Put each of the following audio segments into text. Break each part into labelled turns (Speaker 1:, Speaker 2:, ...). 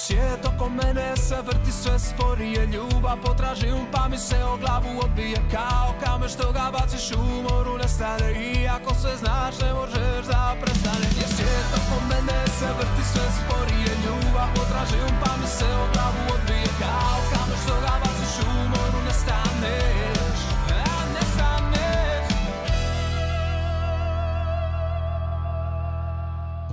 Speaker 1: Svijet oko mene se vrti sve sporije, ljubav potražim pa mi se o glavu odbije kao kamen što ga baciš u moru nestane. Iako sve znaš ne možeš da prestane. Svijet oko mene se vrti sve sporije, ljubav potražim pa mi se o glavu odbije kao kamen što ga baciš u moru nestaneš.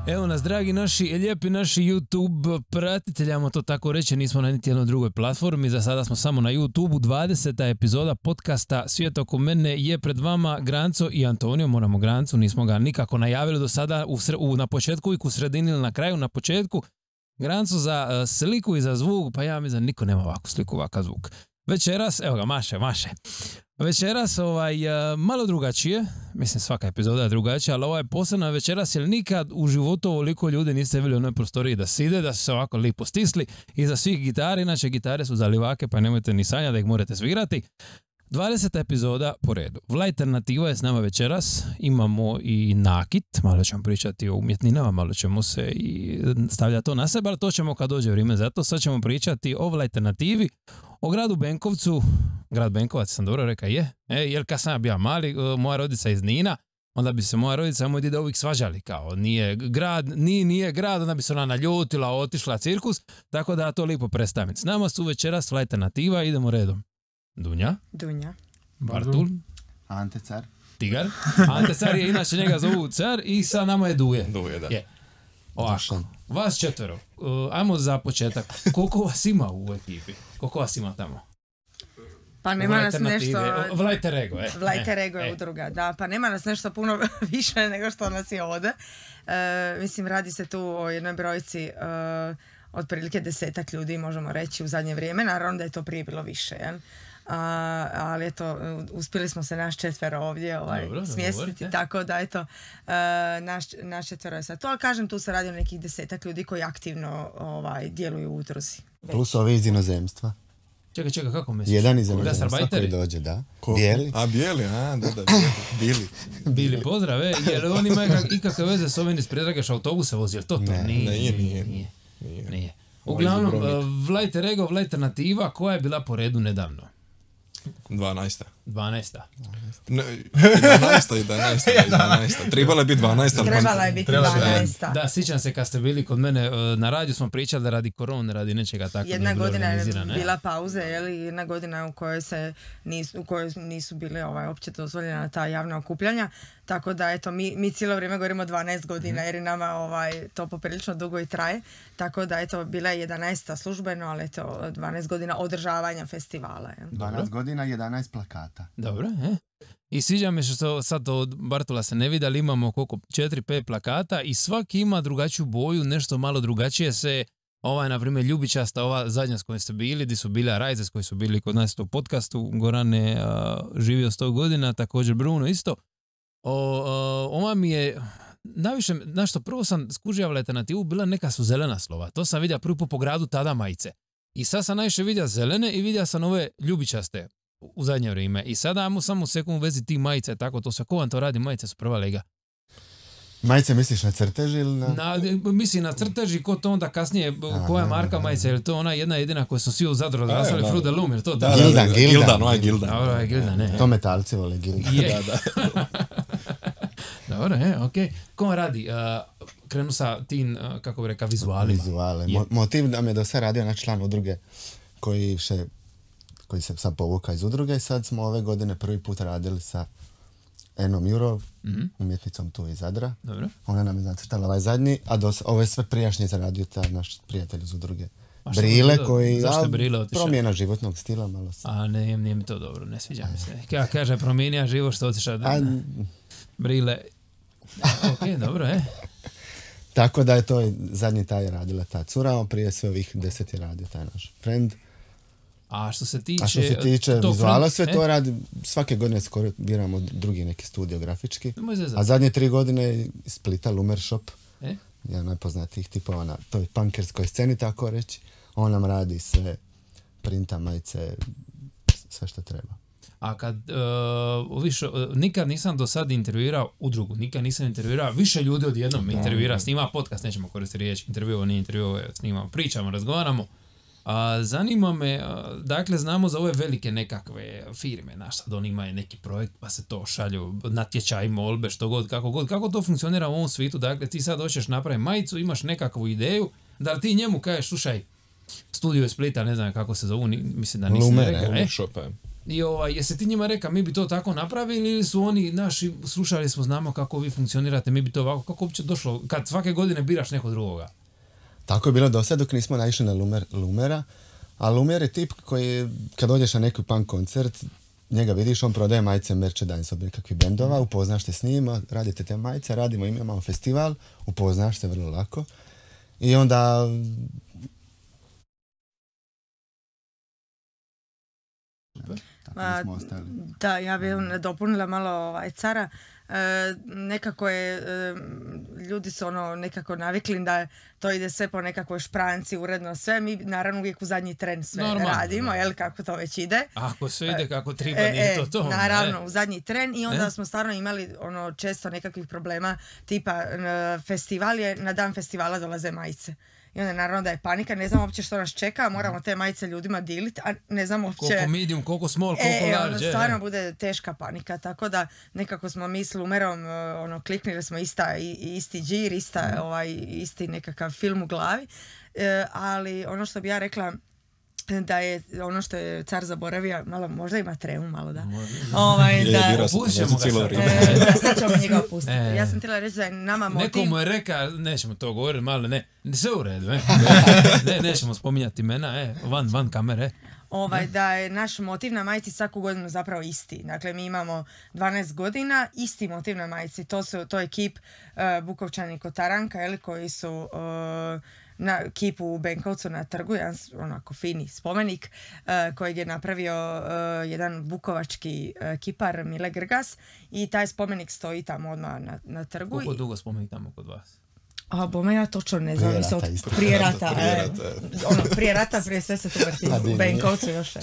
Speaker 2: Evo nas, dragi naši, lijepi naši YouTube pratitelji, ajmo to tako reći, nismo na niti jednoj drugoj platformi, za sada smo samo na YouTube-u. 20. epizoda podcasta Svijet oko mene je pred vama. Granco i Antonio, moramo Grancu, nismo ga nikako najavili do sada na početku i u sredini ili na kraju. Na početku Granco za sliku i za zvuk, pa ja mislim da niko nema ovakvu sliku, ovakav zvuk. Večeras, evo ga, maše. Večeras malo drugačije, mislim svaka epizoda je drugačija, ali ovo je posebna večeras jer nikad u životu ovoliko ljudi niste vidjeli u onoj prostoriji da side, da su se ovako lipo stisli iza svih gitara, inače gitare su za livake pa nemojte ni sanjati da ih morate svirati. 20. epizoda po redu. Vlajternativa je s nama večeras, imamo i nakit, malo ćemo pričati o umjetninama, malo ćemo se i stavljati to na sebe, ali to ćemo kad dođe vrijeme za to. Sad ćemo pričati o Vlajternativi, o gradu Benkovcu. Grad Benkovac, sam dobro rekao, je? Jer kad sam ja bio mali, moja rodica iz Nina, onda bi se moja rodica i moj dida uvijek svađali, kao nije grad, onda bi se ona naljutila, otišla cirkus, tako da to lipo predstavim. S nama su večeras Vlajternativa, idemo redom. Dunja. Bartul.
Speaker 3: Ante Car.
Speaker 2: Tigar. Ante Car je, inače njega zovu Car i sa nama je Duje.
Speaker 4: Duje, da.
Speaker 2: Je. Ovako, vas četvero. Ajmo za početak. Koliko vas ima u ekipi? Koliko vas ima tamo?
Speaker 5: Pa nema nas nešto...
Speaker 2: Vlajter Ego,
Speaker 5: Vlajter Ego je udruga, da. Pa nema nas nešto puno više nego što nas je ovdje. Mislim, radi se tu o jednoj brojci otprilike 10 ljudi, možemo reći, u zadnje vrijeme. Naravno da je to prije bilo više, jel? Ali eto, uspjeli smo se naš četvero ovdje smjestiti, tako da eto, naš četvero je sad to, ali kažem, tu se radi o nekih 10 ljudi koji aktivno djeluju u udruzi.
Speaker 3: Plus ovi iz inozemstva.
Speaker 2: Čekaj, kako misliš?
Speaker 3: Jedan iz inozemstva koji dođe, da. Bijeli.
Speaker 4: Bijeli, Bili.
Speaker 2: Bili, pozdrave, jer on ima ikakve veze s ovim iz Predragaš autobuse vozi, jel to? Nije. Uglavnom, Vlajter Ego, Vlajternativa, koja je bila po redu nedavno?
Speaker 4: 12.
Speaker 2: 11.
Speaker 4: Trebala je biti
Speaker 5: 12.
Speaker 2: Da, sjećam se kad ste bili kod mene na radiju, smo pričali da radi korone, radi nečega tako.
Speaker 5: Jedna godina je bila pauze, jedna godina u kojoj nisu bile opće dozvoljena ta javna okupljanja. Tako da, eto, mi cijelo vrijeme govorimo 12 godina, jer i nama to poprilično dugo i traje. Tako da, eto, bila je 11. službeno, ali eto, 12 godina održavanja festivala.
Speaker 3: 12 godina, 11 plakata.
Speaker 2: Dobro, I sviđa mi što sad od Bartola se ne vidi, ali imamo koliko 4-5 plakata i svaki ima drugačiju boju, nešto malo drugačije se, na primjer, ljubičasta, ova zadnja s kojoj ste bili, gdje su bile Rajze s koji su bili kod nas u podcastu, Gorane živio 100 godina, također Bruno isto. Ova mi je najviše, što prvo sam skužio Vlajternativu, bila neka su zelena slova, to sam vidio prvi po gradu tada majice. I sad sam najviše vidio zelene i vidio sam ove ljubičaste u zadnje vrijeme. I sada ajmo samo sekund u vezi tih majice, tako to sve. Ko vam to radi? Majice su prva lega.
Speaker 3: Majice misliš na crteži ili na...
Speaker 2: Mislim na crteži, ko to onda kasnije, koja marka majice, je li to ona jedna jedina koja su svi u Zadru odrastali, Fruit de Loom, je li to?
Speaker 3: Gildan.
Speaker 2: Dobro, je Gildan, ne.
Speaker 3: To metalci vole Gildan.
Speaker 2: Dobro, okej. Ko vam radi? Krenu sa tim, kako bi rekao, vizualima.
Speaker 3: Vizuale. Motiv nam je da se radio na član udruge koji se sad povuka iz udruge i sad smo ove godine prvi put radili sa Enom Jurov, umjetnicom tu iz Zadra.
Speaker 2: Dobro.
Speaker 3: Ona nam je zacrtala ovaj zadnji, a ovo je sve prijašnje zaradio taj naš prijatelj iz udruge. Brile koji...
Speaker 2: Zašto Brile otišao?
Speaker 3: Promjena životnog stila malo se.
Speaker 2: Nije mi to dobro, ne sviđa mi se. Ja kaže promijenija život što otišao Brile. Ok, dobro,
Speaker 3: Tako da je to zadnji taj radila ta cura, a prije sve ovih 10 je radio taj naš friend.
Speaker 2: A što se tiče
Speaker 3: vizuala, sve to radi, svake godine skoro biramo drugi neki studio grafički. A zadnje 3 godine iz Splita Lumer Shop, jedan najpoznatijih tipova na toj punkerskoj sceni, tako reći. On nam radi sve, printa, majice, sve što treba.
Speaker 2: A kad nikad nisam do sad intervjuirao udrugu, nikad nisam intervjuirao više ljudi odjednom intervjuira, snima podcast, nećemo koristiti riječ, intervjuo, nije intervjuo, snimamo, pričamo, razgovaramo. Zanima me, dakle, znamo za ove velike nekakve firme, sad oni imaju neki projekt pa se to šalju, natječaj, molbe, što god, kako to funkcionira u ovom svijetu, dakle, ti sad hoćeš napraviti majicu, imaš nekakvu ideju, da li ti njemu kažeš, slušaj, Studio iz Splita, ne znam kako se zovu, mislim da nisam rekao, I jesi ti njima rekao, mi bi to tako napravili ili su oni naši, slušali smo, znamo kako vi funkcionirate, mi bi to ovako, kako uopće došlo, kad svake godine biraš nekog drugoga?
Speaker 3: Tako je bilo do sad dok nismo naišli na Lumera, a Lumer je tip koji, kad dođeš na neki punk koncert, njega vidiš, on prodaje majice, merchandise od nekakvih bendova, upoznaš se s njima, radite te majice, radimo, imamo festival, upoznaš se vrlo lako. I onda...
Speaker 5: Da, ja bih dopunila malo cara. Nekako je, ljudi su nekako navikli da to ide sve po nekakvoj špranci, uredno sve. Mi naravno uvijek u zadnji tren sve radimo, jel, kako to već ide.
Speaker 2: Ako sve ide kako treba, nije to.
Speaker 5: Naravno, u zadnji tren i onda smo stvarno imali često nekakvih problema, tipa festival je, na dan festivala dolaze majice. I onda naravno da je panika, ne znam uopće što nas čeka, moramo te majice ljudima dilit, a ne znam uopće...
Speaker 2: Koliko medium, koliko small, koliko large.
Speaker 5: Stvarno bude teška panika, tako da nekako smo mi s Lumerom, kliknili smo isti džir, isti nekakav film u glavi, ali ono što bi ja rekla, da je ono što je car zaboravio, malo, možda ima tremu malo, da.
Speaker 2: Opustimo
Speaker 5: ga sad ćemo njega opustiti. Ja sam htjela reći da je nama motiv...
Speaker 2: Nekomu je reka, nećemo to govoriti, malo ne, sve u redu, nećemo spominjati imena, van kamere.
Speaker 5: Da je naš motiv na majici svaku godinu zapravo isti. Dakle, mi imamo 12 godina, isti motiv na majici. To je kip Bukovčani Kotaranka, koji su... na kipu u Benkovcu na trgu, jedan onako fini spomenik kojeg je napravio jedan bukovački kipar Mile Grgas i taj spomenik stoji tamo odmah na trgu.
Speaker 2: Koliko dugo spomenik tamo kod vas?
Speaker 5: Bome ja točno ne znam, prije rata. Prije rata, prije sve se tu vrti u Benkovcu još.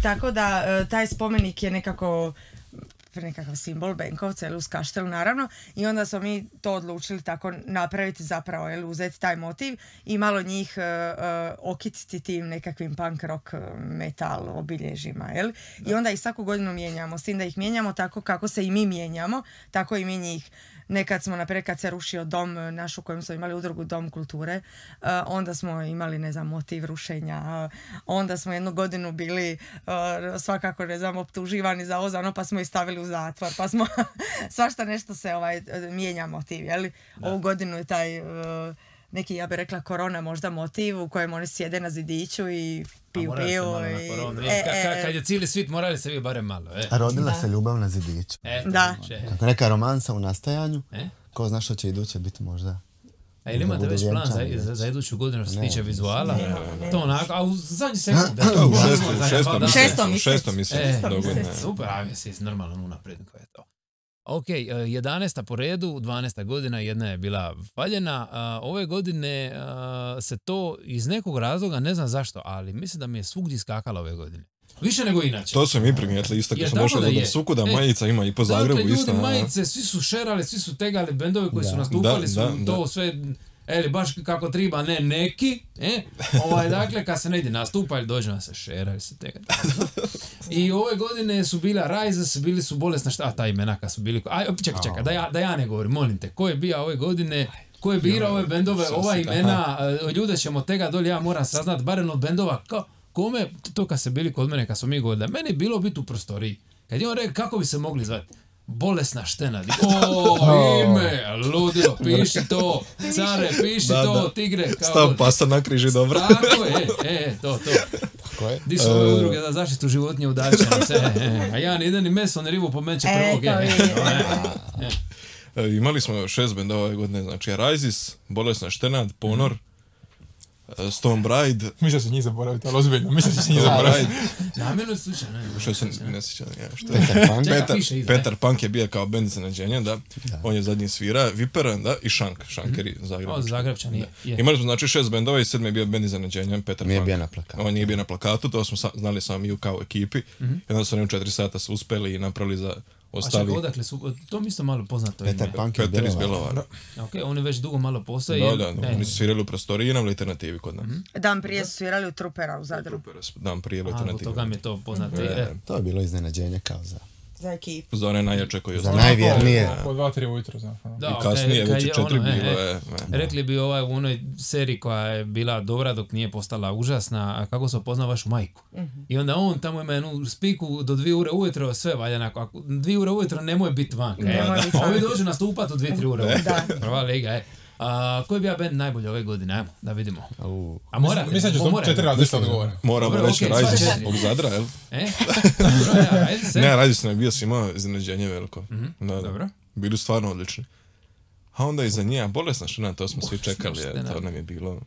Speaker 5: Tako da taj spomenik je nekakav simbol Benkovca, uz Kaštel naravno, i onda smo mi to odlučili tako napraviti zapravo, uzeti taj motiv i malo njih okititi tim nekakvim punk rock metal obilježjima, i onda ih svaku godinu mijenjamo, s tim da ih mijenjamo tako kako se i mi mijenjamo, tako i mi njih. Nekad smo, naprijed, kad se rušio dom naš u kojem smo imali udrugu Dom kulture, onda smo imali, ne znam, motiv rušenja, onda smo jednu godinu bili svakako, ne znam, optuživani za ovo, pa smo ih stavili u zatvor, pa smo svašta nešto se mijenja motiv, jeli? Ovu godinu je taj neki, ja bih rekla, korona možda motiv u kojem oni sjede na zidiću i piju.
Speaker 2: Kad je cijeli svit, morali se vi barem malo.
Speaker 3: A rodila se ljubav na zidiću.
Speaker 5: Da.
Speaker 3: Kako neka romansa u nastajanju, ko zna što će iduće biti možda.
Speaker 2: A ili imate već plan za iduću godinu što se tiče vizuala? To onako, a u zadnji sekund.
Speaker 4: Šestom mislim.
Speaker 2: Super, a si normalno unaprijed koja je to. Ok, 11. po redu, 12. godina, jedna je bila valjena. Ove godine se to iz nekog razloga, ne znam zašto, ali mislim da mi je svugdje skakalo ove godine. Više nego inače.
Speaker 4: To smo mi primijetili isto kad smo došli do svukuda, majica ima i po Zagrebu isto.
Speaker 2: Dakle, ljudi majice, svi su šerali, svi su tegali bendove koji su nastupali, to sve... baš kako treba, ne neki, dakle, kad se ne ide nastupa ili dođe na se šera ili se tega. I ove godine su bila Rises, bili su bolesna ta imena kad su bili... Čekaj, da ja ne govorim, molim te, ko je bio ove godine, ko je birao ove bendove, ova imena, ljude ćemo tega dolje, ja moram saznat, barem od bendova, kome, to kad se bili kod mene, kad smo mi govorili, meni je bilo biti u prostoriji. Kad je on rekao, kako bi se mogli zvati? Bolesna štena. Ime, ludilo, piši to, care, piši to, tigre.
Speaker 4: Stav pasa na križi, dobro.
Speaker 2: Tako je, to. Tako je. Di su ove udruge za zaštitu životinje udaljećene se, a ja ne idem ni meso, ne ribu po menče prvog.
Speaker 4: Imali smo 6 bendova ove godine, znači Rises, Bolesna štena, Ponor, Stone Bride.
Speaker 6: Mislio se njih zaboraviti, ali ozbiljno, mislio se njih zaboraviti.
Speaker 2: Namjerno slučajno.
Speaker 4: Što se ne sjećam.
Speaker 2: Petar
Speaker 4: Punk je bio kao bend iznenađenja, da. On je zadnji svira, Vipera, da, i Shanker i
Speaker 2: Zagrebčan je.
Speaker 4: Imali smo znači 6 bendova i 7 je bio bend iznenađenja, Petar Punk.
Speaker 3: Nije bio na plakatu.
Speaker 4: On nije bio na plakatu, to smo znali sami u kao ekipi. I onda su oni u 4 sata se uspeli i napravili za ostali.
Speaker 2: A čekaj, odakle su, to mi isto malo poznato ime.
Speaker 3: Petar Punk je
Speaker 4: Petar iz Bjelovara.
Speaker 2: Ok, oni već dugo malo postoje.
Speaker 4: Da, oni su svirali u prostoriji i na alternativi kod nas.
Speaker 5: Dan prije su svirali u Trupera u Zadru.
Speaker 4: Dan prije alternativi.
Speaker 2: Toga mi je to poznato.
Speaker 3: To je bilo iznenađenje kao
Speaker 5: za ekipu.
Speaker 4: Za one najjače koji
Speaker 3: za najvjernije.
Speaker 6: Po 2-3 ujutro, znaš.
Speaker 4: I kasnije, već 4 bilo je.
Speaker 2: Rekli bi u onoj seriji koja je bila dobra dok nije postala užasna, a kako se opozna vašu majku. I onda on tamo ima jednu spiku do 2 ure ujutro, sve valja onako. Ako 2 ure ujutro nemoj biti vanka. Ovi dođu nastupat u 2-3 ure ujutro. Prva liga, koji bi ja band najbolji ove godine? Ajmo, da vidimo. A mora?
Speaker 6: Mislim da ću 4 različite odgovore.
Speaker 4: Moramo reći Rajzi zbog Zadra, jel? Ne, Rajzi je bio s imao iznenađenje veliko.
Speaker 2: Dobro.
Speaker 4: Bili stvarno odlični. A onda iza nje, bolesna štena, to smo svi čekali, to nam je bilo...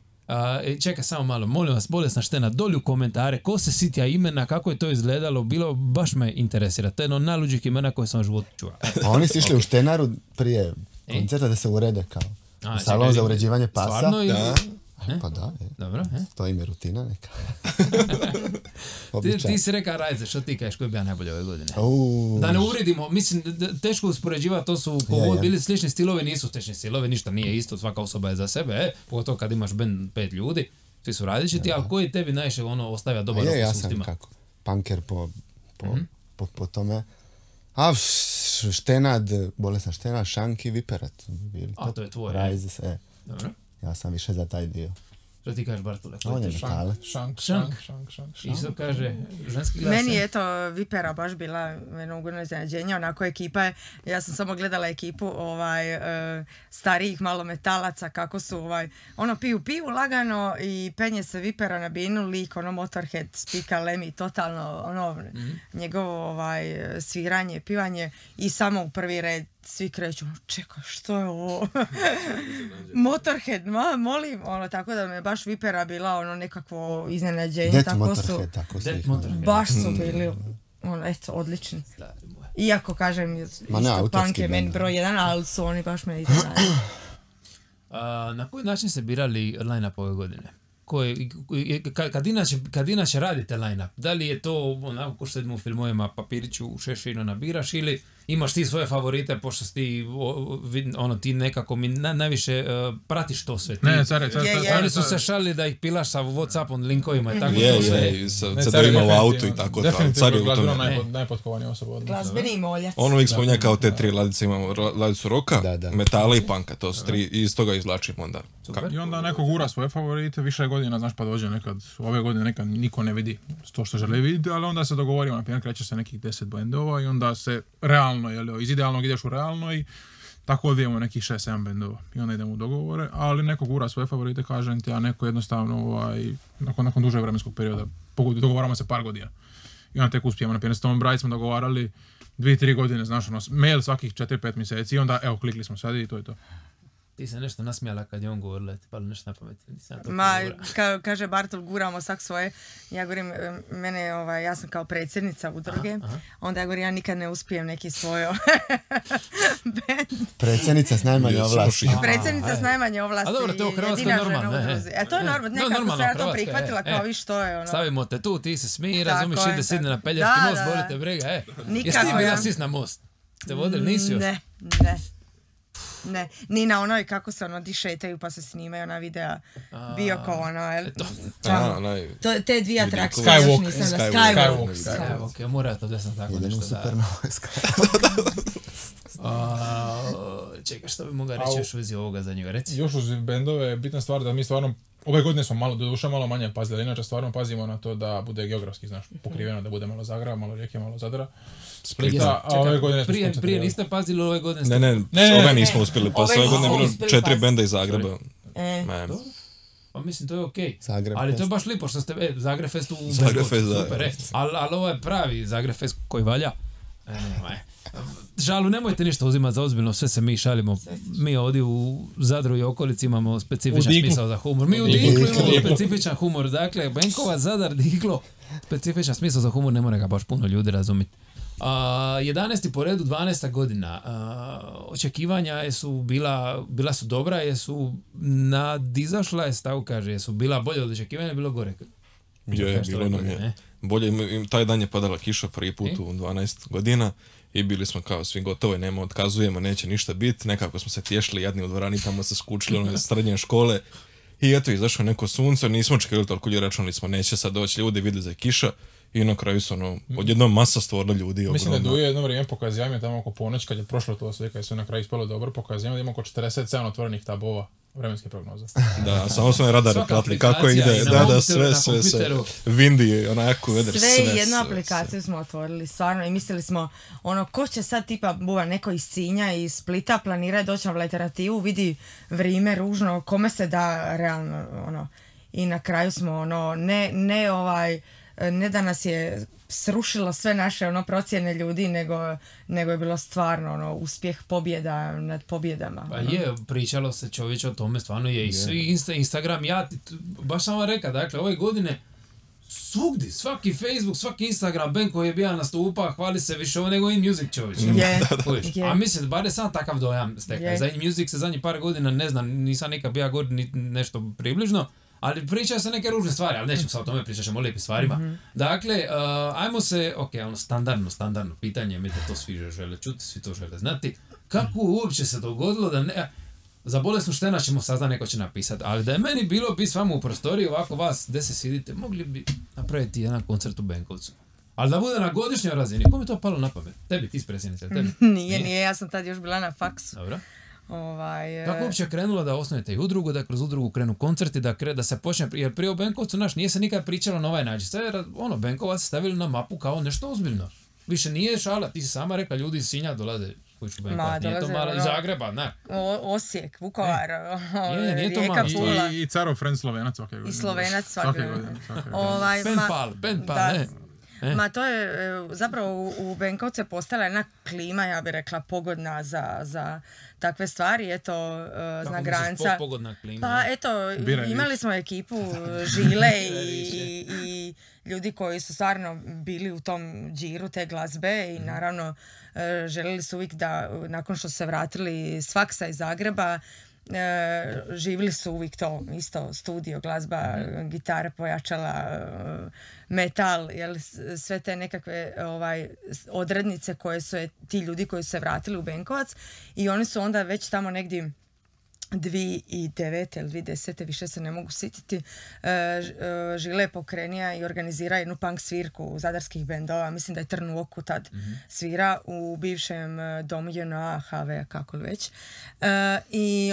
Speaker 2: Čekaj samo malo, molim vas, bolesna štena, dolje u komentare, ko se sitja imena, kako je to izgledalo, bilo, baš me interesira, to je jedno najluđih imena koje sam u životu čuo.
Speaker 3: A oni su išli u Štenaru prije koncerta da se urede kao salon za uređivanje pasa.
Speaker 2: Stvarno ili...
Speaker 3: Pa da,
Speaker 2: Dobro,
Speaker 3: to im je rutina neka.
Speaker 2: Ti si reka Rajze, što ti kažeš, koji bi ja najbolje ove godine? Da ne uredimo, mislim, teško uspoređivati, to su bili slični stilovi, nisu slični stilovi, ništa nije isto, svaka osoba je za sebe, pogotovo kad imaš band 5 ljudi, svi su različiti, ali koji tebi najviše ostavlja dobar okus?
Speaker 3: Ja sam kako, punker po tome. A Štenad, bolesna Štenad, Šanki, Viperat.
Speaker 2: A to je tvoje.
Speaker 3: Rajze,
Speaker 2: Dobro.
Speaker 3: Ja sam više za taj dio.
Speaker 2: Što ti kažeš, Bartole?
Speaker 3: On je metale.
Speaker 6: Šank.
Speaker 2: Isto kaže ženski glas.
Speaker 5: Meni je to Vipera baš bila jedno ugodno iznenađenje, onako ekipa je, ja sam samo gledala ekipu starijih malo metalaca, kako su piju pivu lagano i penje se Vipera na binu, lik, Motorhead, spika Lemmy, totalno njegovo sviranje, pivanje i samo u prvi red svi kreću, čekaj, što je ovo? Motorhead, molim, tako da me baš Vipera bila nekakvo iznenađenje.
Speaker 3: Motorhead, tako su ih.
Speaker 5: Baš su bili, odlični. Iako, kažem, punk je meni broj 1, ali su oni baš me iznenadili.
Speaker 2: Na koji način se birali line-up ove godine? Kad inače radite line-up, da li je to onako ko što sedimo u filmovima, papiriću u šešinu nabiraš ili imaš ti svoje favorite, pošto ti ti nekako mi najviše pratiš to sve. Oni su se šalili da ih pilaš sa Whatsappom, linkovima i tako to sve.
Speaker 4: Sad ima u autu i tako.
Speaker 6: Definitivno glazbeno najpotkovanija osoba.
Speaker 5: Glazbeni moljac.
Speaker 4: On uvijek spominja kao te 3 ladice, imamo ladicu roka, metala i punka, to su 3 i iz toga izvlačimo onda.
Speaker 6: I onda neko gura svoje favorite, više godina, znaš, pa dođe nekad, ove godine nekad niko ne vidi to što želi vidjeti, ali onda se dogovorimo, na primjer, kreće se nekih 10 bendova i onda se realno, iz idealnog ideš u realno i tako odvijemo nekih 6-7 bendova i onda idemo u dogovore, ali neko gura svoje favorite, kažem ti, a neko jednostavno, nakon duže vremenskog perioda, dogovaramo se par godina. I onda tek uspijemo, na primjer, s Tom Bride smo dogovarali 2-3 godine, znaš, mail svakih 4-5 mjeseci i onda, klikli smo sad i to je to.
Speaker 2: Ti se nešto nasmijala kad je on govorila, ti palo nešto na pamet.
Speaker 5: Kaže Bartol, guramo svak svoje. Ja govorim, ja sam kao predsjednica udruge, onda ja govorim, ja nikad ne uspijem neki svoj band.
Speaker 3: Predsjednica s najmanje ovlasti.
Speaker 5: Predsjednica s najmanje ovlasti.
Speaker 2: A dobro, to je u Hrvatskoj normalno.
Speaker 5: To je normalno, nekako se ja to prihvatila kao vi što je.
Speaker 2: Stavimo te tu, ti se smiji, razumiš, ide sidne na Pelješki most, bolite briga. Jesi ti bila sis na most? Ste vodili, nisi još?
Speaker 5: Ne, ni na onoj kako se dišetaju pa se snimaju na videa bio kao te 2 atrakcije.
Speaker 2: Skywalk, mora to da sam tako nešto čekaj, što bi mogla reći još u vezi ovoga za njega, reci?
Speaker 6: Još uz bendove je bitna stvar da mi stvarno ove godine smo malo manje pazili, inače stvarno pazimo na to da bude geografski, pokriveno, da bude malo Zagreba, malo Rijeke, malo Zadra. Splita, a ove godine smo skoncentrirali. Prije niste pazili ove godine?
Speaker 4: Ne, ove nismo uspjeli, pa ove godine je bilo 4 benda iz Zagreba.
Speaker 2: Pa mislim, to je okej. Ali to je baš lipo što ste Zagreb Fest u
Speaker 4: Zagreb Fest, da.
Speaker 2: Ali ovo je pravi Zagreb Fest koji valja. Žalu, nemojte ništa uzimati za ozbiljno, sve se mi šalimo. Mi ovdje u Zadru i okolici imamo specifičan smisao za humor. Mi u Diklu imamo specifičan humor. Dakle, Benkovac, Zadar, Diklo, specifičan smisao za humor, ne mora ga baš puno ljudi razumjeti. 11. po redu, 12. godina. Očekivanja su bila su dobra, jesu nadizašla, tako kaže, jesu bila bolje od očekivanja, bilo gore.
Speaker 4: Je, bilo nam je. Bolje, taj dan je padala kiša prvi put u 12 godina i bili smo kao svi gotovo, nema, otkazujemo, neće ništa biti. Nekako smo se tješili jadni u dvorani, tamo se skučili iz srednje škole. I eto, izašlo neko sunce, nismo očekivali toliko ljudi, računali smo, neće sad doći ljudi, vidjeli za kiša. I na kraju su odjednom masa stvorila ljudi.
Speaker 6: Mislim da Duje jedno vrijeme pokazivanje tamo oko ponoć, kad je prošlo to sve, kad je sve na kraju ispalo dobro, pokazivanje da ima oko 47 otvorenih tabova vremenske prognoze.
Speaker 4: Da, samo smo radare platili kako ide, da, sve, vindi, onako veder, sve.
Speaker 5: Sve jednu aplikaciju smo otvorili, stvarno, i mislili smo, ko će sad tipa buva neko iz Sinja, iz Splita, planira doći na alternativu, vidi vrijeme ružno, kome se da realno, i na kraju smo, ne da nas je srušilo sve naše procjene ljudi, nego je bilo stvarno uspjeh pobjeda nad pobjedama.
Speaker 2: Pa je, pričalo se čovječe o tome, stvarno je i svi Instagram, baš sam vam rekao, dakle, ove godine svugdje, svaki Facebook, svaki Instagram, Benko je bio nastupa, hvali se više ovo nego InMusic čovječe. A mislim, bar je sam takav dojam stekao. Za InMusic se zadnjih par godina, ne znam, nisam nikad bio god nešto približno, ali pričaju se neke ružne stvari, ali nećemo sad o tome pričati, ćemo o lijepim stvarima. Dakle, ajmo se, standardno pitanje, mi to svi žele čuti, svi to žele znati. Kako uopće se dogodilo da ne... Za bolesnu štena ćemo saznati, neko će napisati, ali da je meni bilo biti s vama u prostoriji, ovako vas, gdje se sidite, mogli bi napraviti jedan koncert u Benkovcu. Ali da bude na godišnjoj razini, kome je to palo na pamet? Tebi, ti predsjednice, tebi?
Speaker 5: Nije, ja sam tad još bila na faksu.
Speaker 2: Dobro. Kako uopće krenula da osnovite i udrugu, da kroz udrugu krenu koncerti, da se počne, jer prije o Benkovcu nije se nikad pričalo na ovaj način. Sve je Benkovac stavili na mapu kao nešto ozbiljno. Više nije šala, ti si sama rekla, ljudi iz Sinja dolaze kuću Benkovac, nije to malo, iz Zagreba, ne.
Speaker 5: Osijek, Vukovar,
Speaker 2: nije to
Speaker 5: Rijeka, Pula.
Speaker 6: I Carov friend Slovenac svake godine.
Speaker 5: I Slovenac svake godine.
Speaker 2: Ben Pal, ne.
Speaker 5: Ma to je, zapravo u Benkovcu je postala jedna klima, ja bih rekla, pogodna za takve stvari, eto, zna Granca.
Speaker 2: Pogodna klima?
Speaker 5: Pa eto, imali smo ekipu Žile i ljudi koji su stvarno bili u tom džiru te glazbe i naravno željeli su uvijek da, nakon što su se vratili s faksa iz Zagreba, živjeli su uvijek to isto, studio, glazba, gitara, pojačala, metal, sve te nekakve odrednice koje su ti ljudi koji su se vratili u Benkovac i oni su onda već tamo negdje 2009. ili 2010. više se ne mogu sjetiti, Žile je pokrenija i organizira jednu punk svirku zadarskih bendova, mislim da je Trn u oku tad svira u bivšem domu JNA, HV, kako li već. I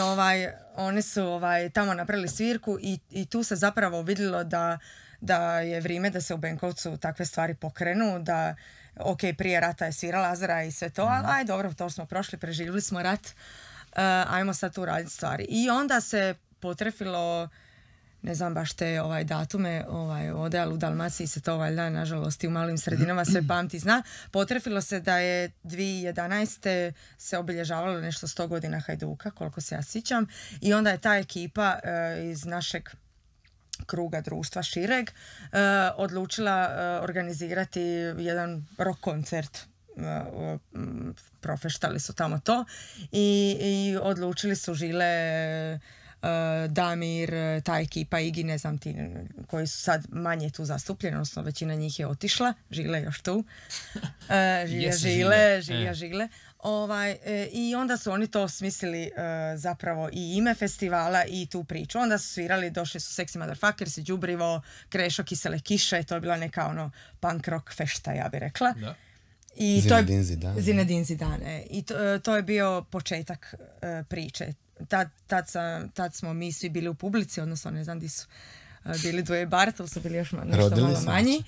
Speaker 5: oni su tamo napravili svirku i tu se zapravo vidjelo da je vrijeme da se u Benkovcu takve stvari pokrenu, da prije rata je svirala Azara i sve to, ali dobro, to smo prošli, preživjeli smo rat. Ajmo sad tu raditi stvari. I onda se potrefilo, ne znam baš te datume, ovdje, ali u Dalmaciji se to valjda, nažalost, i u malim sredinama sve pamti zna. Potrefilo se da je 2011. se obilježavalo nešto 100 godina Hajduka, koliko se ja sjećam. I onda je ta ekipa iz našeg kruga društva šireg odlučila organizirati jedan rock koncert. Profeštali su tamo to i odlučili su Žile, Damir, ta ekipa Igi, ne znam ti, koji su sad manje tu zastupljeni, odnosno većina njih je otišla, Žile još tu, Žile. I onda su oni to smislili zapravo i ime festivala i tu priču. Onda su svirali, došli su Sexy Motherfuckers i Đubrivo, Krešo, Kisele kiše, to je bila neka punk rock fešta, ja bih rekla. Da. Zinedine Zidane. I to je bio početak priče. Tad smo mi svi bili u publici, odnosno ne znam di su bili Duje Bar, to su bili još nešto malo manji.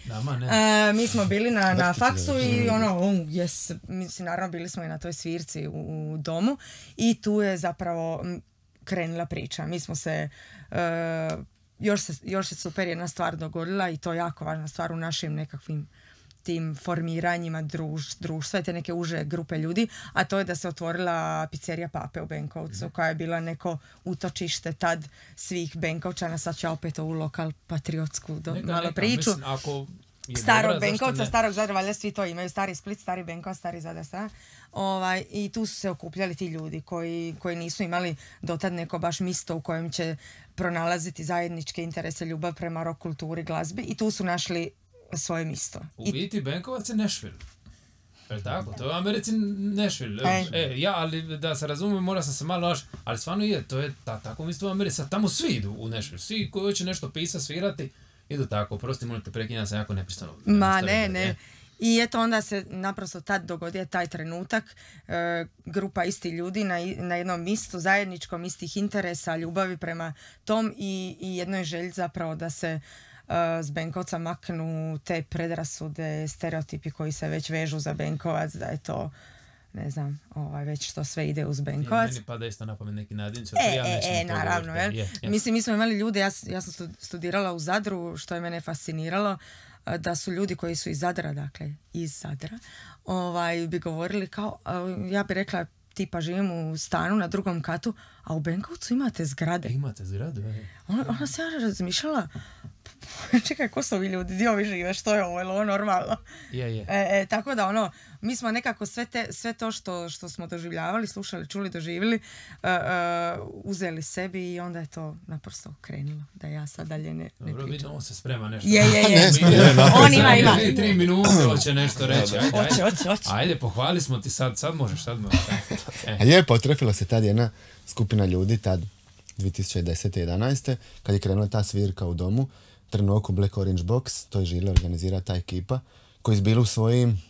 Speaker 5: Mi smo bili na faksu i mislim, naravno bili smo i na toj svirci u domu i tu je zapravo krenula priča. Mi smo se još se super jedna stvar dogodila i to je jako važna stvar u našim nekakvim tim formiranjima društva i te neke uže grupe ljudi, a to je da se otvorila pizzerija Pape u Benkovcu, koja je bila neko utočište tad svih Benkovčana. Sad ću ja opet ovu lokal patriotsku malo priču. Starog Benkovca, starog Zadra, valjda svi to imaju, stari Split, stari Benkovac, stari Zadar, i tu su se okupljali ti ljudi koji nisu imali dotad neko baš misto u kojem će pronalaziti zajedničke interese, ljubav prema rock kulturi, glazbi, i tu su našli svoje misto.
Speaker 2: U biti Benkovac je Nashville. Je tako? To je u Americi Nashville. Ali da se razumijem, mora sam se malo ali stvarno to je tako misto u Americi. Tamo svi idu u Nashville. Svi koji hoće nešto pisati, svirati, idu tako. Prosti, molite, prekinjam se jako nepristano.
Speaker 5: Ne. I eto, onda se naprosto tad dogodio taj trenutak, grupa istih ljudi na jednom mistu, zajedničkom, istih interesa, ljubavi prema tom i jednoj želji zapravo da se s Benkovca maknu te predrasude, stereotipi koji se već vežu za Benkovac, da je to, ne znam, već što sve ide uz Benkovac.
Speaker 2: Meni pada isto na pamet neki nadimci.
Speaker 5: Naravno, Mislim, mi smo imali ljude, ja sam studirala u Zadru, što je mene fasciniralo, da su ljudi koji su iz Zadra, dakle, iz Zadra, bi govorili kao, ja bi rekla, tipa živim u stanu na 2. katu, a u Benkovcu imate zgrade.
Speaker 2: Imate zgrade,
Speaker 5: Ona se ja razmišljala, čekaj, ko su ovi ljudi, gdje ovi žive, što je ovo, je li ovo normalno?
Speaker 2: Je.
Speaker 5: Tako da, mi smo nekako sve to što smo doživljavali, slušali, čuli, doživjeli, uzeli sebi i onda je to naprosto krenulo, da ja sad dalje ne pričam.
Speaker 2: Dobro, vidim, on se sprema nešto.
Speaker 5: Je. On ima.
Speaker 2: 3 minute hoće nešto reći.
Speaker 5: Hoće.
Speaker 2: Ajde, pohvali smo ti sad možeš.
Speaker 3: A potrefila se tad jedna skupina ljudi, tad 2010. 11. kad je krenula ta svirka u domu, Trnoku Black Orange Box, to je žile organizira ta ekipa, koji su bili u svojim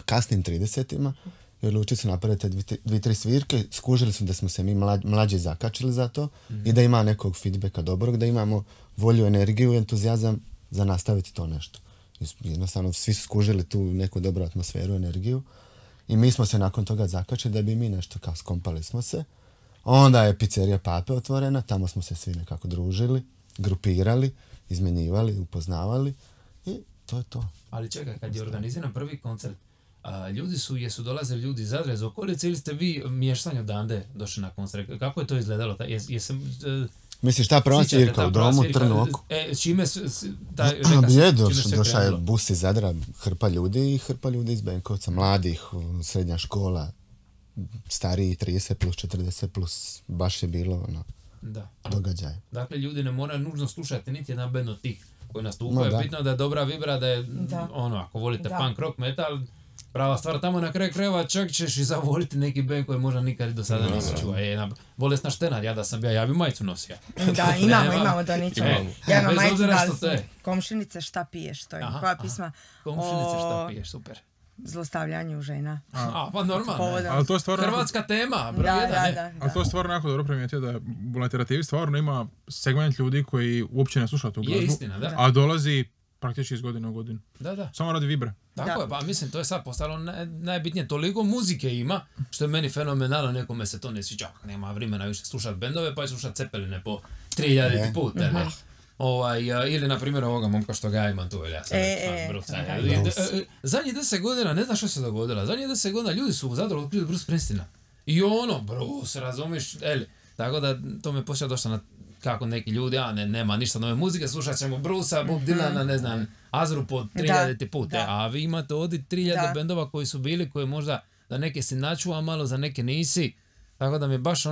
Speaker 3: kasnim 30-ima i odlučili su napraviti 2-3 svirke, skužili su da smo se mi mlađi zakačili za to i da ima nekog feedbacka dobrog, da imamo volju, energiju i entuzijazam za nastaviti to nešto. Jednostavno, svi su skužili tu neku dobru atmosferu, energiju i mi smo se nakon toga zakačili da bi mi nešto kao skompali smo se. Onda je pizzerija Pape otvorena, tamo smo se svi nekako družili, grupirali, izmenjivali, upoznavali i to je to.
Speaker 2: Ali čekaj, kad je organiziran prvi koncert, jesu dolazili ljudi iz Zadra, iz okolice ili ste vi mještani odande došli na koncert? Kako je to izgledalo?
Speaker 3: Misliš, ta prva svirka u domu, Trnu oko?
Speaker 2: Čime
Speaker 3: došao je bus iz Zadra, hrpa ljudi iz Benkovca, mladih, srednja škola, stariji 30 plus 40 plus, baš je bilo događaj.
Speaker 2: Dakle, ljudi ne moraju nužno slušati niti jedan band od tih koji nastupaju. Bitno da je dobra vibra, da je ako volite punk, rock, metal, prava stvar. Tamo na kraju krajeva čak ćeš i zavoliti neki band koji možda nikad do sada nisi čuo. Bolesna štenar, ja bi majicu nosio.
Speaker 5: Da, imamo da ničemo. Ja imam majicu da komšinice šta piješ, to je koja pisma.
Speaker 2: Komšinice šta piješ, super.
Speaker 5: Zlostavljanju žena.
Speaker 2: Pa normalno.
Speaker 6: Ali to je stvarno
Speaker 2: hrvatska tema, broj jedan, ne?
Speaker 6: Ali to je stvarno jako dobro primijetio da u literaturi stvarno ima segment ljudi koji uopće ne slušaju tu glazbu.
Speaker 2: Je istina, da.
Speaker 6: A dolazi praktički iz godine u godinu.
Speaker 2: Da.
Speaker 6: Samo radi vibre.
Speaker 2: Tako je, pa mislim, to je sad postalo najbitnije. Toliko muzike ima, što je meni fenomenalno, nekome se to ne sviđa. Nema vremena više slušati bendove, pa je slušati Cepeline po 3000 put, ne? Ili, na primjer, ovoga momka što ga ja imam tu, zadnjih 10 godina, ne znam što se dogodilo, zadnjih 10 godina ljudi su u Zadru otkrili Bruce Springsteena. I Bruce, razumiš, tako da to me počeo došlo na kako neki ljudi, nema ništa nove muzike, slušat ćemo Brucea, Bob Dylana, ne znam, Azru po 3000 put, a vi imate ovdje 3000 bendova koji su bili, koji možda za neke si načuva malo, za neke nisi, tako da mi baš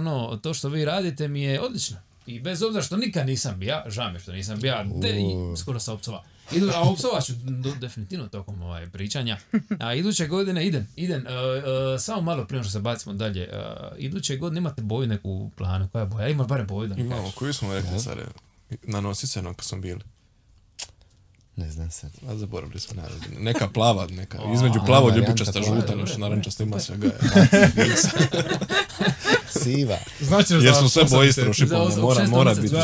Speaker 2: to što vi radite mi je odlično. I bez obzira što nikad nisam bio, žao mi što nisam bio, i skoro sam opsova. A opsovat ću definitivno tokom pričanja. A iduće godine idem, samo malo prije što se bacimo dalje. Iduće godine imate boju neku u planu, koja je boja? Imaš barem boju da mi kažeš.
Speaker 4: Imamo, koju smo rekli sad, na Nosicenu kad smo bili.
Speaker 3: Ne znam sad.
Speaker 4: A zaboravili smo naravno. Neka plava, između plavo, ljubičasta, žuta, nešto narančasta ima svega.
Speaker 3: Siva.
Speaker 4: Jer smo sve boje istruši, mora biti.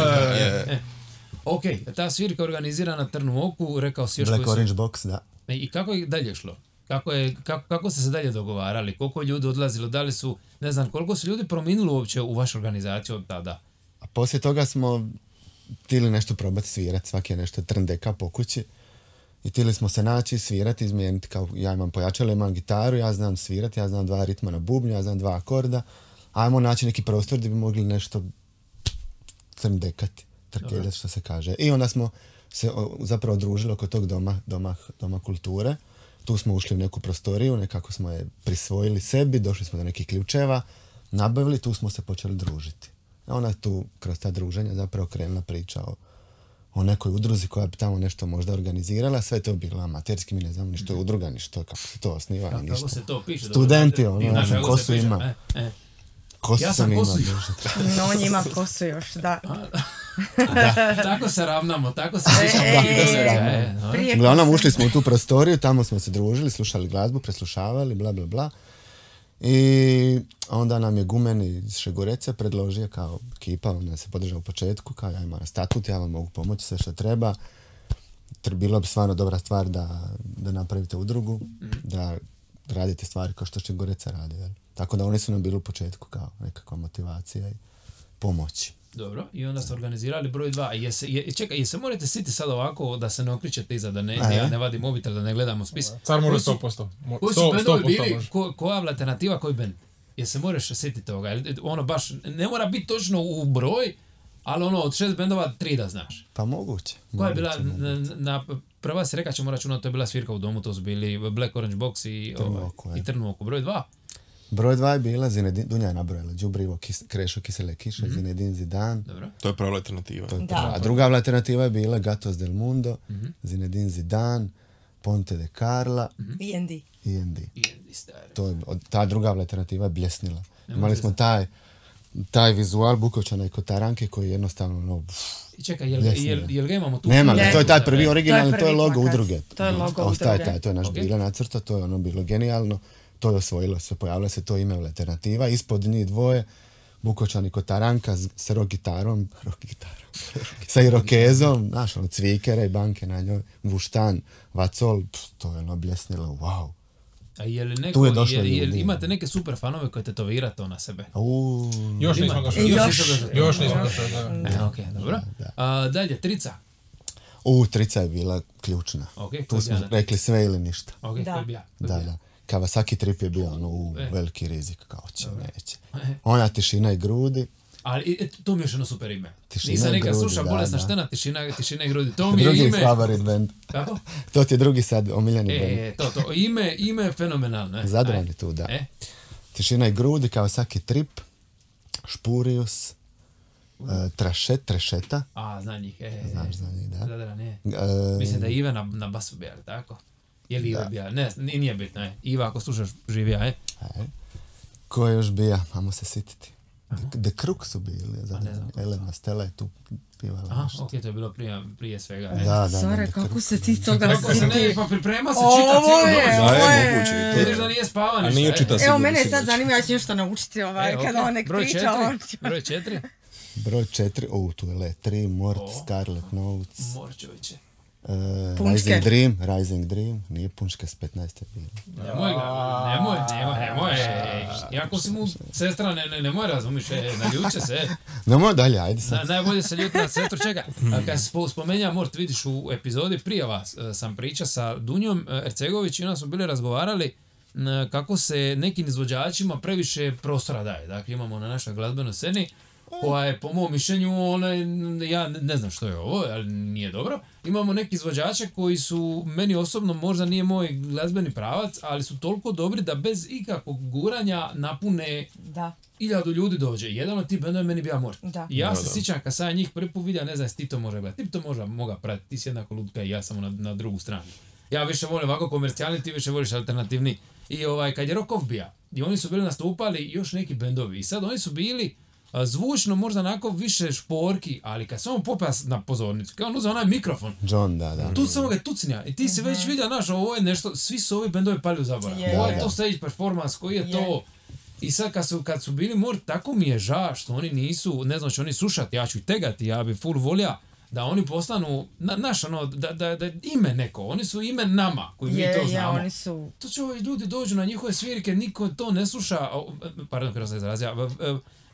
Speaker 2: Ok, ta svirka organizirana na Trnu oku, rekao si još
Speaker 3: Black Orange Box, da.
Speaker 2: I kako je dalje šlo? Kako ste se dalje dogovarali? Koliko je ljudi odlazilo? Da li su, ne znam, koliko su ljudi promijenili uopće u vašu organizaciju od tada?
Speaker 3: A poslije toga smo htjeli nešto probati svirati, svaki je nešto trndeka po kući. I tili smo se naći, svirati, izmijeniti, kao ja imam pojačalo, imam gitaru, ja znam svirati, ja znam 2 ritma na bubnju, ja znam 2 akorda, ajmo naći neki prostor gdje bi mogli nešto crndekati, trkeljati što se kaže. I onda smo se zapravo družili oko tog doma kulture. Tu smo ušli u neku prostoriju, nekako smo je prisvojili sebi, došli smo do nekih ključeva, nabavili, tu smo se počeli družiti. A onda je tu, kroz ta druženja, zapravo krenula priča o nekoj udruzi koja bi tamo nešto možda organizirala. Sve to bilo amaterski, mi ne znamo ni što je udruga, ni što, kako se to osniva, ni ništa.
Speaker 2: Kako se to piše?
Speaker 3: Studenti, ja znam kosu ima. Kosu
Speaker 2: ja
Speaker 3: sam imao.
Speaker 5: No, on ima kosu još, da.
Speaker 2: Tako se ravnamo, tako se
Speaker 3: Uglavnom, ušli smo u tu prostoriju, tamo smo se družili, slušali glazbu, preslušavali, bla, bla, bla. I onda nam je Gumen iz Šegorece predložio kao ekipa, on se podržao u početku, kao ja imam statut, ja vam mogu pomoći sve što treba. Bilo bi stvarno dobra stvar da napravite udrugu, da radite stvari kao što Šegoreca radi. Jel? Tako da oni su nam bili u početku kao nekakva motivacija i pomoći.
Speaker 2: Dobro, i onda ste organizirali broj 2. Čekaj, se morate siti sad ovako da se ne okričete iza, da ja ne vadim mobitel, da ne gledamo spis.
Speaker 6: Car mora 100%.
Speaker 2: Koji su bendovi bili, koja je alternativa, koji bend? Se moraš sititi toga? Ono baš, ne mora biti točno u broj, ali ono od 6 bendova 3 da znaš.
Speaker 3: Pa moguće.
Speaker 2: Koja je bila, prva si reka ćemo računati, to je bila svirka u domu, to su bili Black Orange Box i Trnu oko. Broj 2?
Speaker 3: Broj 2 je bila Zinedine, Dunja je nabrojala, Đubrivo, Krešo, Kisele kiše, Zinedine Zidan.
Speaker 2: Dobro.
Speaker 4: To je prva alternativa.
Speaker 3: A druga alternativa je bila Gatos del Mundo, Zinedine Zidan, Ponte de Carla
Speaker 5: E&D.
Speaker 3: Ta druga alternativa je bljesnila. Imali smo taj vizual Bukovčana i Kotaranke koji jednostavno
Speaker 2: čekaj, jel ga imamo tu?
Speaker 3: Nema, to je taj prvi originalni, to je logo udruge.
Speaker 5: To je logo
Speaker 3: udruge. To je naš bila nacrta, to je ono bilo genijalno. To je osvojilo se, pojavila se to ime alternativa. Ispod njih dvoje, Bukovčan i Kotaranka s rock gitarom, sa irokezom, znaš, ono, cvikere i banke na njoj, vuštan, vacol, to je ono bljesnilo, wow.
Speaker 2: A je li neko, imate neke super fanove koje tetovirate to na sebe?
Speaker 6: Još nismo došli. Još nismo došli, da.
Speaker 2: Ok, dobro. Dalje, Trica.
Speaker 3: Trica je bila ključna.
Speaker 2: Okay,
Speaker 3: tu smo rekli sve ili ništa.
Speaker 2: Ok, koji je bija?
Speaker 3: Da. Kawasaki Trip je bio veliki rizik, kao će, neće. Ona Tišina i grudi.
Speaker 2: Ali to mi je još jedno super ime.
Speaker 3: Nisam nekad
Speaker 2: slušao Bolesna štena, Tišina i grudi. To mi je
Speaker 3: drugi
Speaker 2: ime...
Speaker 3: Drugi favorit band.
Speaker 2: Kako?
Speaker 3: To ti je drugi sad omiljeni band.
Speaker 2: To. Ime je fenomenalno.
Speaker 3: Zadrani tu, da. Tišina i grudi, Kawasaki Trip, Špurius, Trešeta.
Speaker 2: Zna njih.
Speaker 3: Znaš za njih, da.
Speaker 2: Zadrani, mislim da je Ive na basu bija, tako? Je li Iva bija? Ne, nije bitno, Iva, ako slušaš, živija,
Speaker 3: Ko je još bija? Ajmo se sititi. The Crook su bili, Elena Stella je tu pivala nešto.
Speaker 2: Ok, to je bilo prije svega.
Speaker 3: Da.
Speaker 5: Sore, kako se ti toga
Speaker 2: siti? Pa priprema se, čita cijelo noć. Vidiš da nije spava ništa.
Speaker 5: Evo, mene je sad zanima, ja ću nešto naučiti kada on nek priča.
Speaker 2: Broj 4?
Speaker 3: Broj 4, tu je Le 3, Mort, Scarlet Notes.
Speaker 2: Morčeviće.
Speaker 3: Rising Dream, nije Punčke s 15. bilo.
Speaker 2: Nemoj. Jako si mu sestra, nemoj razumiš, naljuče se.
Speaker 3: Nemoj dalje, ajde sad.
Speaker 2: Najbolje se ljuti na sestru, čekaj. Kad se spomenja Mort, vidiš u epizodi prije vas, sam priča sa Dunjom Ercegović i onda smo bili razgovarali kako se nekim izvođačima previše prostora daje. Dakle, imamo na našoj glazbenoj sceni koja je po mom mišljenju, ja ne znam što je ovo, ali nije dobro. Imamo neki izvođače koji su, meni osobno možda nije moj glazbeni pravac, ali su toliko dobri da bez ikakvog guranja napune 1000 ljudi dođe. Jedan od tih bendova je meni bio Mort. Ja se sjećam kad sam njih prvi put vidio, ne znam ti to može gledati, ti to možda moga pratiti, ti si jednako lutka i ja sam na drugu stranu. Ja više volim ovako komercijalni, ti više voliš alternativni. I kad je Rock Off bija, i oni su bili nastupali još neki bendovi i sad oni su bili zvučno možda onako više šporki, ali kad samo popeo na pozornicu, kao on uzeo onaj mikrofon,
Speaker 3: John, da.
Speaker 2: Tu samo ga tucnja i ti si već vidio, ovo je nešto, svi su ovi bendovi pali u zaborav. Ovo je to stage performance, koji je to... I sad kad su bili Mort, tako mi je žao što oni nisu, ne znam, će oni slušati, ja ću ih tegati, ja bi full volja da oni postanu, da ime neko, oni su ime nama, koji mi to znamo.
Speaker 5: Oni su...
Speaker 2: To će ovi ljudi dođu na njihove svirke, niko to ne sluša, pardon, kada se izrazija,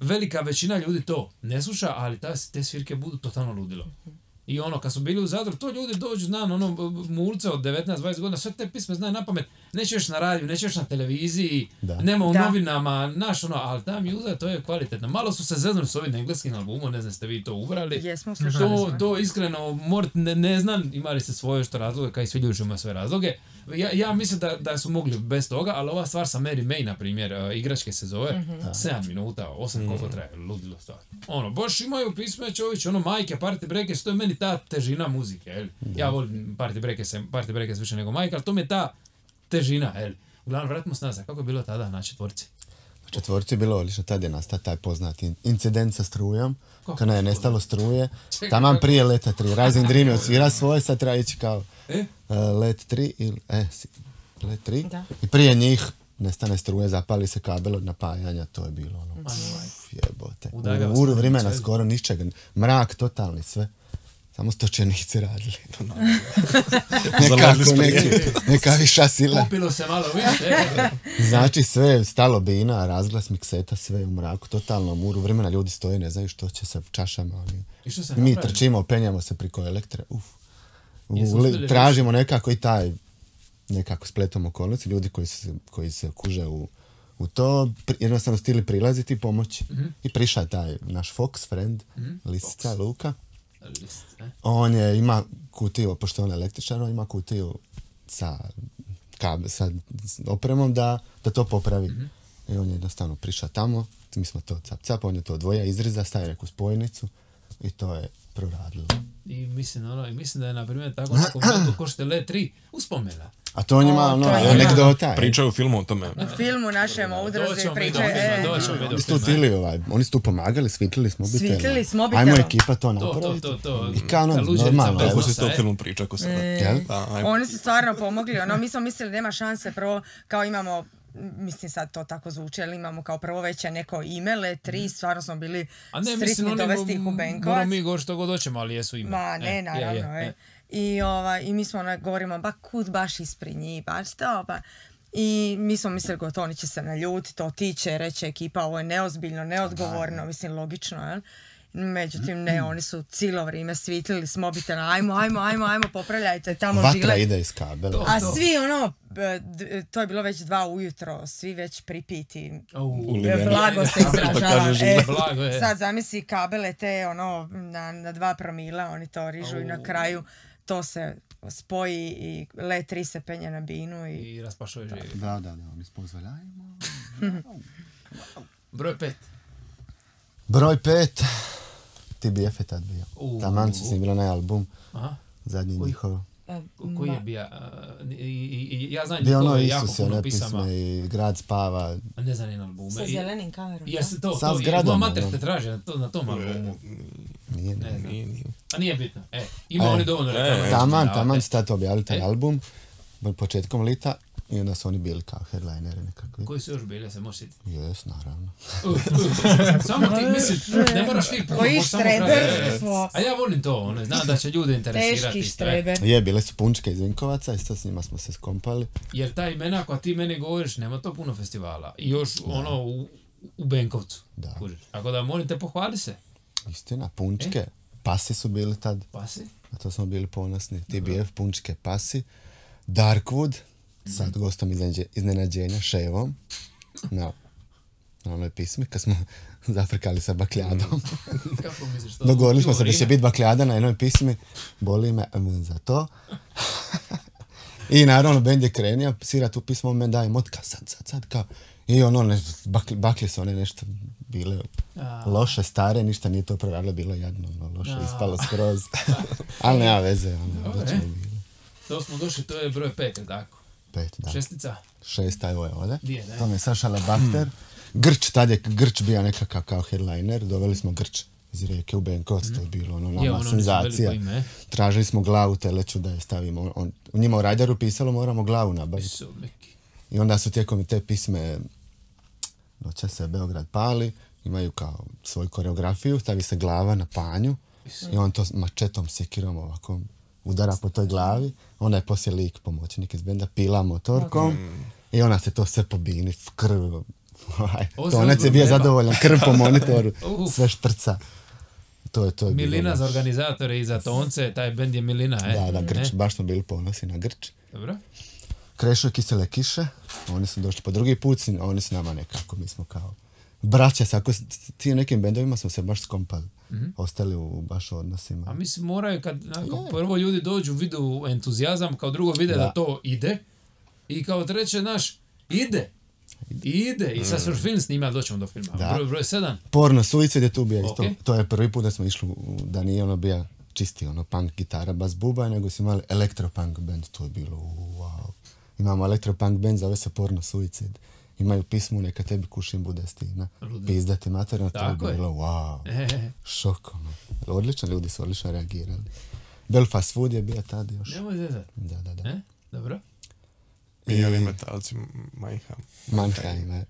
Speaker 2: velika većina ljudi to ne sluša, ali te svirke budu totalno ludilo. I ono, kad su bili u Zadru, to ljudi dođu, znam, ono, mulce od 19-20 godina, sve te pisme znaju na pamet, nećeš na radiju, nećeš na televiziji, nema u novinama, znaš, ono, ali ta mjuza, to je kvalitetno. Malo su se zeznuli s ovim engleskim albumom, ne znam, ste vi to ubrali.
Speaker 5: Jesmo,
Speaker 2: to iskreno, ne znam, imali ste svoje što razloge, kao i svi ljudi imaju svoje razloge. Ja mislim da su mogli bez toga, ali ova stvar sa Mary May, na primjer, igračke se zove, 7 minuta, 8 koliko traje, ludilo stvar. Ono, baš imaju pisme, čovječ, ono, majke, Party Breakers, to je meni ta težina muzike, jel? Ja volim Party Breakers više nego majke, ali to mi je ta težina, jel? Uglavnom, vratimo se nazad, kako je bilo tada na četvorci?
Speaker 3: Na četvorci je bilo odlično, tad je nastao taj poznati incident sa strujom, kada je nestalo struje, taman prije Leta 3, Rising Dream je odsvira svoje, sad treba ići kao Let 3 ili Let 3 i prije njih nestane struje, zapali se kabel od napajanja, to je bilo ono, jebote. U vremena skoro ničega, mrak totalni sve. Samo stočenici radili. Neka viša sila.
Speaker 2: Popilo se malo više.
Speaker 3: Znači sve je stalo bina, razglas mikseta, sve u mraku, totalno muru vremena, ljudi stoje, ne znaju što će sa čašama. Mi trčimo, penjamo se priko elektre. Tražimo nekako i taj nekako spletom okolnosti, ljudi koji se kuže u to, jednostavno stili prilaziti i pomoći. I priša taj naš Fox friend, Lisica, Luka. On ima kutiju, pošto on je električar, on ima kutiju sa opremom da to popravi. I on je jednostavno prišao tamo, mi smo to cap, on je to odvoja, izriza, staje neku spojnicu i to je proradilo.
Speaker 2: I mislim da je, na primjer, tako nekom momentu ko što je Let 3 uspomena.
Speaker 3: A to on ima anegdota.
Speaker 4: Pričaju u filmu o tome.
Speaker 5: U filmu našem o udruzi pričaju.
Speaker 3: Oni su tu pomagali, svitlili s mobitelom.
Speaker 5: Svitlili s mobitelom.
Speaker 3: Ajmo ekipa to napraviti. I kao normalno.
Speaker 4: Tako se to u filmu priča.
Speaker 5: Oni su stvarno pomogli. Mi smo mislili da nema šanse. Prvo, kao imamo, mislim sad to tako zvuči, ali imamo kao prvo već neko ime, Let 3, stvarno smo bili striktni dovesti ih u Benkovac.
Speaker 2: Moramo mi govoriti što god hoćemo, ali jesu ime.
Speaker 5: Ma ne, naravno. I mi smo govorimo, kud baš ispred njih, baš to, I mi smo mislili, gotovo, oni će se naljutiti, otiće, reće ekipa, ovo je neozbiljno, neodgovorno, mislim, logično, jel? Međutim, ne, oni su cijelo vrijeme svitlili s mobitela, ajmo, popravljajte tamo žile.
Speaker 3: Vatra ide iz kabela.
Speaker 5: A svi, to je bilo već 2 ujutro, svi već pripiti, blago se izražava. Sad zamisli kabele te, na 2 promila, oni to rižu i na kraju to se spoji i Let 3 se penje na binu i
Speaker 2: raspašuje živi.
Speaker 3: Da, oni spozvaljajmo.
Speaker 2: Broj 5.
Speaker 3: Broj 5. TBF je tad bio. Taman su snimili onaj album. Zadnji njihov.
Speaker 2: Koji je bio? Ja znam njihove jako puno pisama.
Speaker 3: I Grad spava.
Speaker 2: Ne znam njen albume.
Speaker 5: Sa zelenim kamerom.
Speaker 2: Jeste to. Ima mater te traže na tom albumu.
Speaker 3: Nije.
Speaker 2: A nije bitno. Ima oni dovoljno reklama.
Speaker 3: Taman su tad objavili taj album. Početkom lita. I onda su oni bili kao headlineri nekakvi.
Speaker 2: Koji su još bili, se možeš sjetiti?
Speaker 3: Jes, naravno.
Speaker 2: Samo ti misliš, ne moraš ti prvo, možeš samo pravi. A ja volim to, znam da će ljude interesirati.
Speaker 5: Teški štreber.
Speaker 3: Bile su Punčke iz Vinkovaca i s njima smo se skompali.
Speaker 2: Jer ta imena, ako ti meni govoriš, nema to puno festivala. I još u Benkovcu. Da. Tako da molim te, pohvali se.
Speaker 3: Istina, Punčke. Pasi su bili tad.
Speaker 2: Pasi?
Speaker 3: Na to smo bili ponosni. TBF, Punčke, Pasi. Darkwood. Sad gostom iznenađenja, Ševom, na onoj pismi, kad smo zafrkali sa bakljadom.
Speaker 2: Kako misliš to?
Speaker 3: Dogovorili smo se da će biti bakljada na jednoj pismi, boli me za to. I naravno, bend je krenio, svira tu pismo, men daje motka, sad, kao. I baklje su one nešto bile loše, stare, ništa nije to proradilo, bilo jadno, loše, ispalo skroz. Ali nema veze,
Speaker 2: To smo došli, to je broj 5, tako?
Speaker 3: 5, da.
Speaker 2: 6.
Speaker 3: 6, evo je ovdje. To mi je Saša Labakter. Grč, tad je Grč bio nekakav kao headliner. Doveli smo Grč iz Rijeke u Benkovac, to je bilo nama senzacija. Tražili smo glavu teleću da je stavimo. U njima u radaru pisalo moramo glavu nabaviti. I onda su tijekom te pisme Noća se Beograd pali, imaju kao svoju koreografiju, stavi se glava na panju i on to mačetom, sekirom ovako udara po toj glavi, onda je poslije lik pomoćnik iz benda, pila motorkom i ona se to sve pobini, krv, tonac je bio zadovoljan, krv po monitoru, sve štrca. To je bilo
Speaker 2: Milina za
Speaker 3: baš-
Speaker 2: organizatore i za tonce, taj bend je Milina,
Speaker 3: Da, Grč, baš smo bili ponosni na Grč.
Speaker 2: Dobro.
Speaker 3: Krešo i Kisele kiše, oni su došli po drugi put, oni su nama nekako, mi smo kao braća, ako s tim nekim bendovima smo se baš skompali, ostali u baš odnosima.
Speaker 2: A mislim moraju kad prvo ljudi dođu vidu entuzijazam, kao drugo vide da to ide i kao treće ide. I sad su film snima, doćemo do filma.
Speaker 3: Da.
Speaker 2: Broj 7.
Speaker 3: Porno Suicide je tu bio isto,
Speaker 2: Ok.
Speaker 3: to je prvi put da smo išli, da nije ono bio čisti punk gitara, bas buba, nego smo imali elektropunk band, to je bilo wow. Imamo elektropunk band, zove se Porno Suicide. Imaju pismu, neka tebi kušim bude stina. Pizdati materijalno, to je
Speaker 2: Tako je.
Speaker 3: bilo wow. Šok, odlično, ljudi su odlično reagirali. Belfast Food je bio tad još.
Speaker 2: Nemoj zezat.
Speaker 3: Da.
Speaker 2: Dobro.
Speaker 4: Pijali metalci
Speaker 3: Mannheim, je.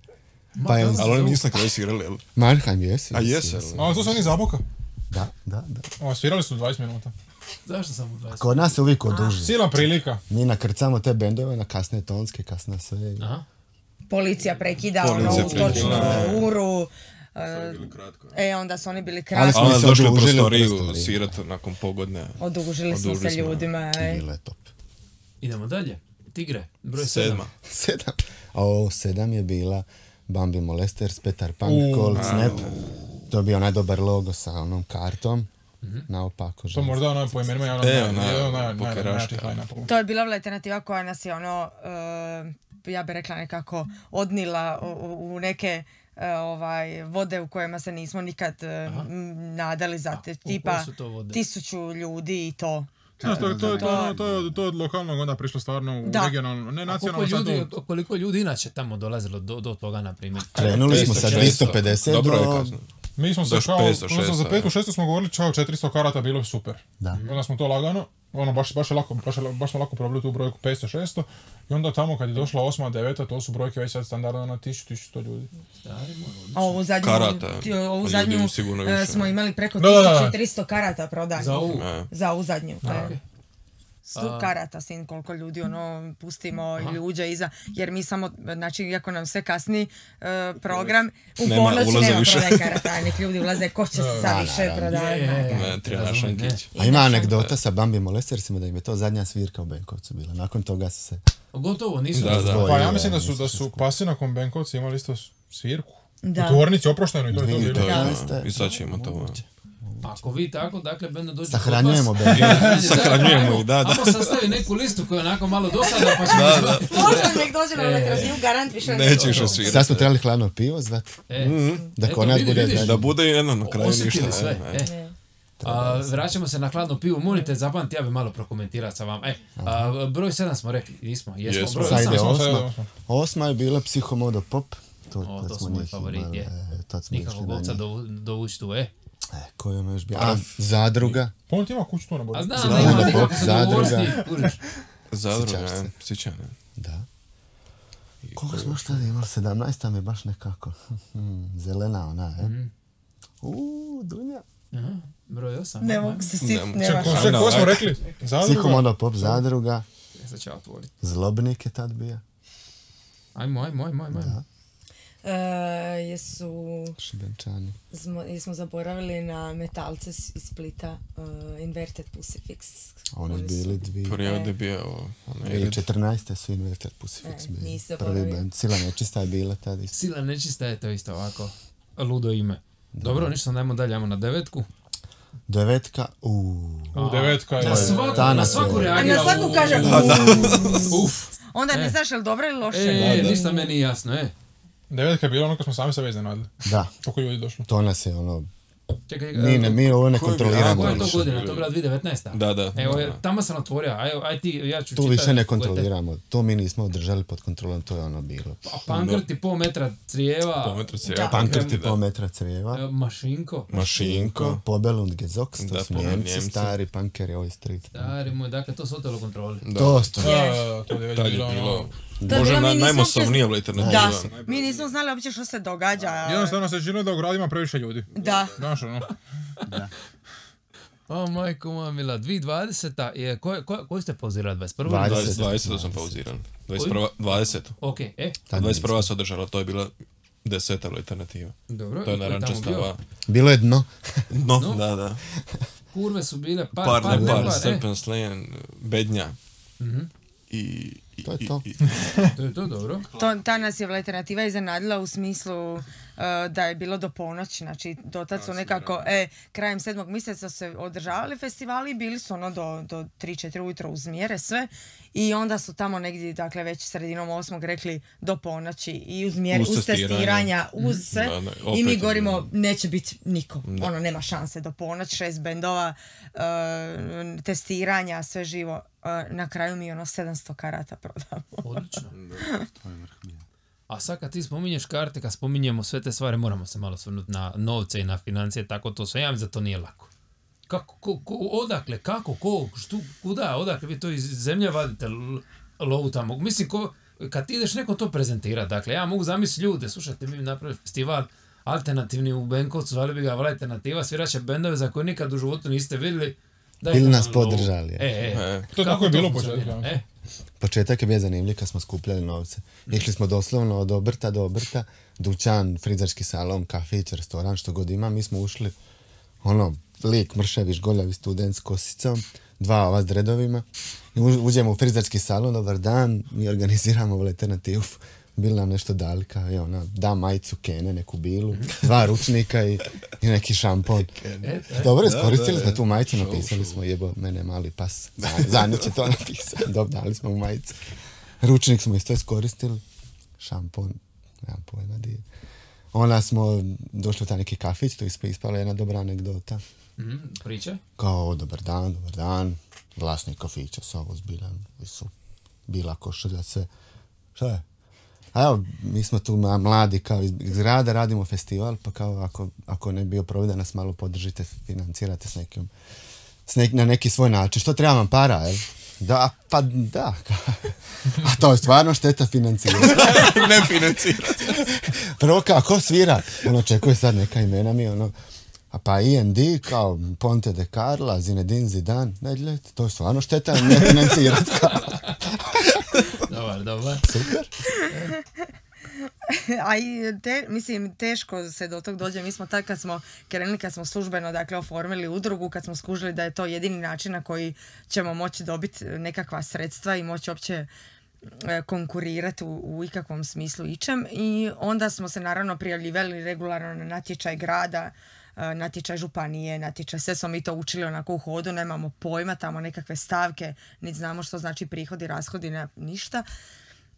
Speaker 3: Pa je,
Speaker 4: Ali oni nisu na kraju svirali, jel?
Speaker 3: Mannheim jesu.
Speaker 4: A jesu,
Speaker 6: A to su oni Zaboka.
Speaker 3: Da.
Speaker 6: Svirali su 20 minuta.
Speaker 2: Zašto sam u 20?
Speaker 3: Kod nas se uvijek oduži.
Speaker 6: Silna prilika.
Speaker 3: Mi nakrcamo te bendove na kasne tonske, kasna sve.
Speaker 2: Aha.
Speaker 5: Policija prekida
Speaker 4: Policija
Speaker 5: u
Speaker 4: prekida,
Speaker 5: točno uru. Onda su oni bili kratko.
Speaker 3: Ali smo
Speaker 4: Ali
Speaker 3: se
Speaker 4: došli u
Speaker 3: odužili u
Speaker 4: prostoriju
Speaker 3: prostoriju.
Speaker 4: svirati nakon pogodne.
Speaker 5: Odužili smo se ljudima.
Speaker 3: Bilo je top.
Speaker 2: Idemo dalje. Tigre, broj 7.
Speaker 3: 7. A ovo 7 je bila Bambi Molesters, Petar Punk, Cold Snap. To je bio najdobar logo sa onom kartom. Naopako.
Speaker 6: To možda ono po imenima najjačih line-upa.
Speaker 5: To je bila alternativa koja nas je ja bih rekla nekako odnila u neke vode u kojima se nismo nikad nadali za te, tipa
Speaker 2: su to vode?
Speaker 5: 1000 ljudi i to.
Speaker 6: Znaš, to je od lokalnog onda prišlo stvarno u regionalno, ne nacionalno.
Speaker 2: Koliko ljudi inače tamo dolazilo do toga, na primjer?
Speaker 3: Krenuli smo sa 250
Speaker 4: Dobro je
Speaker 3: do...
Speaker 4: kazno.
Speaker 6: Mi smo se
Speaker 4: Doš
Speaker 6: kao,
Speaker 4: 500,
Speaker 6: ono za 5. 6. smo govorili čao 400 karata bilo je super.
Speaker 3: Da.
Speaker 6: Onda smo to lagano, baš smo lako probili tu brojku 500, 600 i onda tamo kad je došla 8. 9. to su brojke već sad standardno na 1100 ljudi.
Speaker 5: A ovu
Speaker 4: Karata,
Speaker 5: zadnju
Speaker 4: ljudi sigurno više.
Speaker 5: smo imali preko
Speaker 6: Da.
Speaker 5: 1300 karata prodanih.
Speaker 2: Za ovu?
Speaker 5: Za zadnju. 100 karata, sin, koliko ljudi pustimo ili uđe iza, jer mi samo, znači, iako nam sve kasni program, u
Speaker 4: Nema
Speaker 5: ponoć
Speaker 4: ulaza
Speaker 5: nema
Speaker 4: više.
Speaker 5: prodaj karata, nek ljudi ulaze, ko će se sad više prodavati.
Speaker 4: Trinašankić.
Speaker 3: A ima anegdota sa Bambi Molestersima da im je to zadnja svirka u Benkovcu bila. Nakon toga su se...
Speaker 2: Gotovo, nisu
Speaker 4: Da.
Speaker 6: Pa ja mislim da su Pasi nakon Benkovci imali isto svirku.
Speaker 5: Da.
Speaker 6: U tvornici oprošteno i to je to bilo.
Speaker 4: To je
Speaker 3: Da.
Speaker 4: to. I sad ćemo to.
Speaker 2: Ako vi tako, dakle, benda dođe
Speaker 3: Sahranjujemo
Speaker 2: kod vas.
Speaker 3: bend.
Speaker 4: Sahranjujemo ih, da.
Speaker 2: Ajmo sastavi neku listu koja je onako malo dosada, pa ćemo...
Speaker 5: Možda nek dođe na elektrosniju, garant više
Speaker 4: Neće više svirati.
Speaker 3: Sad smo trebali hladno pivo zvati. Da kod nas bude
Speaker 2: vidiš,
Speaker 3: zadnji.
Speaker 4: Da bude jedno na kraju ništa.
Speaker 2: Osjetili sve. Vraćamo se na hladno pivo. Molite, zapamti, ja bi malo prokomentirati sa vama. Broj 7 smo rekli, nismo. Jesmo, broj
Speaker 3: Sad ide
Speaker 2: 8.
Speaker 3: 8. 8 je bila Psihomodo Pop.
Speaker 2: To su moji favoriti, je. Nikako govca dovući tu,
Speaker 3: Ko je ono još bio? Zadruga.
Speaker 6: Pa on ti ima kuću tu na bodu.
Speaker 2: A znam,
Speaker 3: Zadruga,
Speaker 2: da ima nikako se
Speaker 3: Zadruga.
Speaker 2: dogovor s njim, kužiš.
Speaker 4: Zadruga, sjećane.
Speaker 3: Da. Koliko smo šta imali? 17 mi je baš nekako. Zelena ona, Dunja.
Speaker 2: Broj 8.
Speaker 5: Ne mogu se sjetiti,
Speaker 4: mogu.
Speaker 5: nema šanse.
Speaker 6: Čekaj, ko smo rekli? Zadruga?
Speaker 3: Psihomodo Pop, Zadruga.
Speaker 2: Sad ću ja otvoriti.
Speaker 3: Zlobnik je tad bio.
Speaker 2: Ajmo.
Speaker 3: Šibenčani.
Speaker 5: Jesmo zaboravili na metalce iz Splita, Inverted Pussy Fix.
Speaker 3: Oni su bili dvije.
Speaker 4: Prijevod je bio onaj red.
Speaker 3: 2014. su Inverted Pussy Fix bili.
Speaker 5: nisi
Speaker 3: Prvi
Speaker 5: zaboravio.
Speaker 3: band. Sila nečista je bila tad isto.
Speaker 2: Sila nečista je to isto ovako. Ludo ime. Dobro, ništa, dajmo dalje, ajmo na 9.
Speaker 3: 9.
Speaker 6: U 9. je...
Speaker 2: Na svaku
Speaker 5: A
Speaker 2: reagira.
Speaker 5: na svaku kaže
Speaker 2: Uf.
Speaker 5: onda ne znaš je li dobro ili loše.
Speaker 2: Ništa meni nije jasno,
Speaker 6: 9 je bilo ono kad smo sami sebe iznenadili.
Speaker 3: Da,
Speaker 6: Koliko ljudi došlo.
Speaker 3: to nas je ono...
Speaker 2: Čekaj,
Speaker 3: Mi ovo ne
Speaker 4: Ko je
Speaker 3: kontroliramo.
Speaker 2: koja je to
Speaker 4: više
Speaker 2: godina?
Speaker 4: bilo.
Speaker 2: To je bila 2019.
Speaker 4: Da.
Speaker 2: Evo, tamo sam otvorio, aj ti, ja ću
Speaker 3: Tu
Speaker 2: čitati.
Speaker 3: više ne kontroliramo. To mi nismo održali pod kontrolom, to je ono bilo.
Speaker 2: Pankrti, pol metra crijeva.
Speaker 4: Po metra cijela.
Speaker 3: Pankrti po metra crijeva.
Speaker 2: Mašinko.
Speaker 3: Pobelund Gezox, to
Speaker 4: Da,
Speaker 3: su
Speaker 4: Pobelund
Speaker 3: Njemci,
Speaker 4: Njemci.
Speaker 3: stari punkeri, ovi street.
Speaker 2: Stari moj, dakle, to su otelo kontroli.
Speaker 3: To.
Speaker 6: To je već
Speaker 4: Tad je
Speaker 6: bilo
Speaker 4: bilo...
Speaker 6: ono...
Speaker 4: Možda
Speaker 5: mi nismo
Speaker 4: najmasovnija
Speaker 5: Da,
Speaker 4: alternativa.
Speaker 5: mi nismo znali uopće što se događa.
Speaker 6: Jednostavno se činilo da u gradu ima previše ljudi.
Speaker 5: Da.
Speaker 6: Znaš ono.
Speaker 2: O, majko moja mila, 2020. je, koji ste pauzirali, 21.
Speaker 3: 20.
Speaker 4: 20 sam pauziran. 20.
Speaker 2: Ok,
Speaker 4: A 21. se održala, to je bila 10 alternativa.
Speaker 2: Dobro.
Speaker 4: To je narančastava.
Speaker 3: Bilo je dno.
Speaker 4: No, da.
Speaker 2: Kurve su bile
Speaker 4: Par, Serpent Slain, Bednja.
Speaker 3: To je to.
Speaker 2: To je to, dobro.
Speaker 5: Ta nas je alternativa iznenadila u smislu da je bilo do ponoći, znači dotad su nekako, krajem 7. mjeseca se održavali festivali, bili su do 3-4 ujutro uz mjere sve i onda su tamo negdje, dakle već sredinom 8. rekli do ponoći i uz mjere, uz testiranja, uz sve i mi govorimo neće biti niko, nema šanse do ponoći, 6 bendova, testiranja, sve živo, na kraju mi 700 karata prodamo.
Speaker 2: Odlično. A sad kad ti spominješ karte, kad spominjemo sve te stvari, moramo se malo svrnuti na novce i na financije, tako to sve. Ja mislim da to nije lako. Kako, odakle, kako, kuda, odakle vi to iz zemlje vadite lovu tamo? Mislim, kad ti ideš neko to prezentira, dakle, ja mogu zamisliti ljude, slušajte, mi napravili festival alternativni u Benkovcu, zvali bi ga alternativa, sviraće bendove za koje nikad u životu niste vidjeli.
Speaker 3: Ili nas podržali.
Speaker 6: To tako je bilo početak.
Speaker 3: Početak je bio zanimljiv kad smo skupljali novce. Išli smo doslovno od obrta do obrta, dućan, frizerski salon, kafić, restoran, što god ima. Mi smo ušli, lik, mršavi, žgoljavi student s kosicom, 2 ova s dredovima. I uđemo u frizerski salon, dobar dan, mi organiziramo alternativu. Bili nam nešto dali, da majicu Kene, neku bilu, 2 ručnika i neki šampon. Dobro, iskoristili smo tu majicu, napisali smo jebo mene mali pas. Zadnje će to napisati. Dobro, dali smo u majicu. Ručnik smo isto iskoristili. Šampon, nemam pojma di. Onda smo došli u taj neki kafić, tu ispala jedna dobra anegdota.
Speaker 2: Pričaj?
Speaker 3: Kao, dobar dan, vlasnik kafića, sa ovo zbiljan, bila košulja, sve. Šta je? A evo, mi smo tu mladi kao iz grada, radimo festival, pa kao ako ne bi bio problem da nas malo podržite, financirate na neki svoj način. Što treba vam para, jel? Da, pa da. A to je stvarno šteta financirati.
Speaker 4: Ne financirati.
Speaker 3: Prvo kao, ko svira? Očekuje sad neka imena mi, a pa IND, kao Ponte de Carla, Zinedine Zidane, ne, to je stvarno šteta ne financirati.
Speaker 2: Dobar.
Speaker 3: Super.
Speaker 5: Mislim, teško se do tog dođe. Mi smo tad kad smo krenuli, kad smo službeno oformili udrugu, kad smo skužili da je to jedini način na koji ćemo moći dobiti nekakva sredstva i moći uopće konkurirati u ikakvom smislu ičem. I onda smo se naravno prijavljivali regularno na natječaj grada, natječaj županije, natječaj, sve smo mi to učili onako u hodu, nemamo pojma, tamo nekakve stavke, niti znamo što znači prihodi, rashodi, ništa.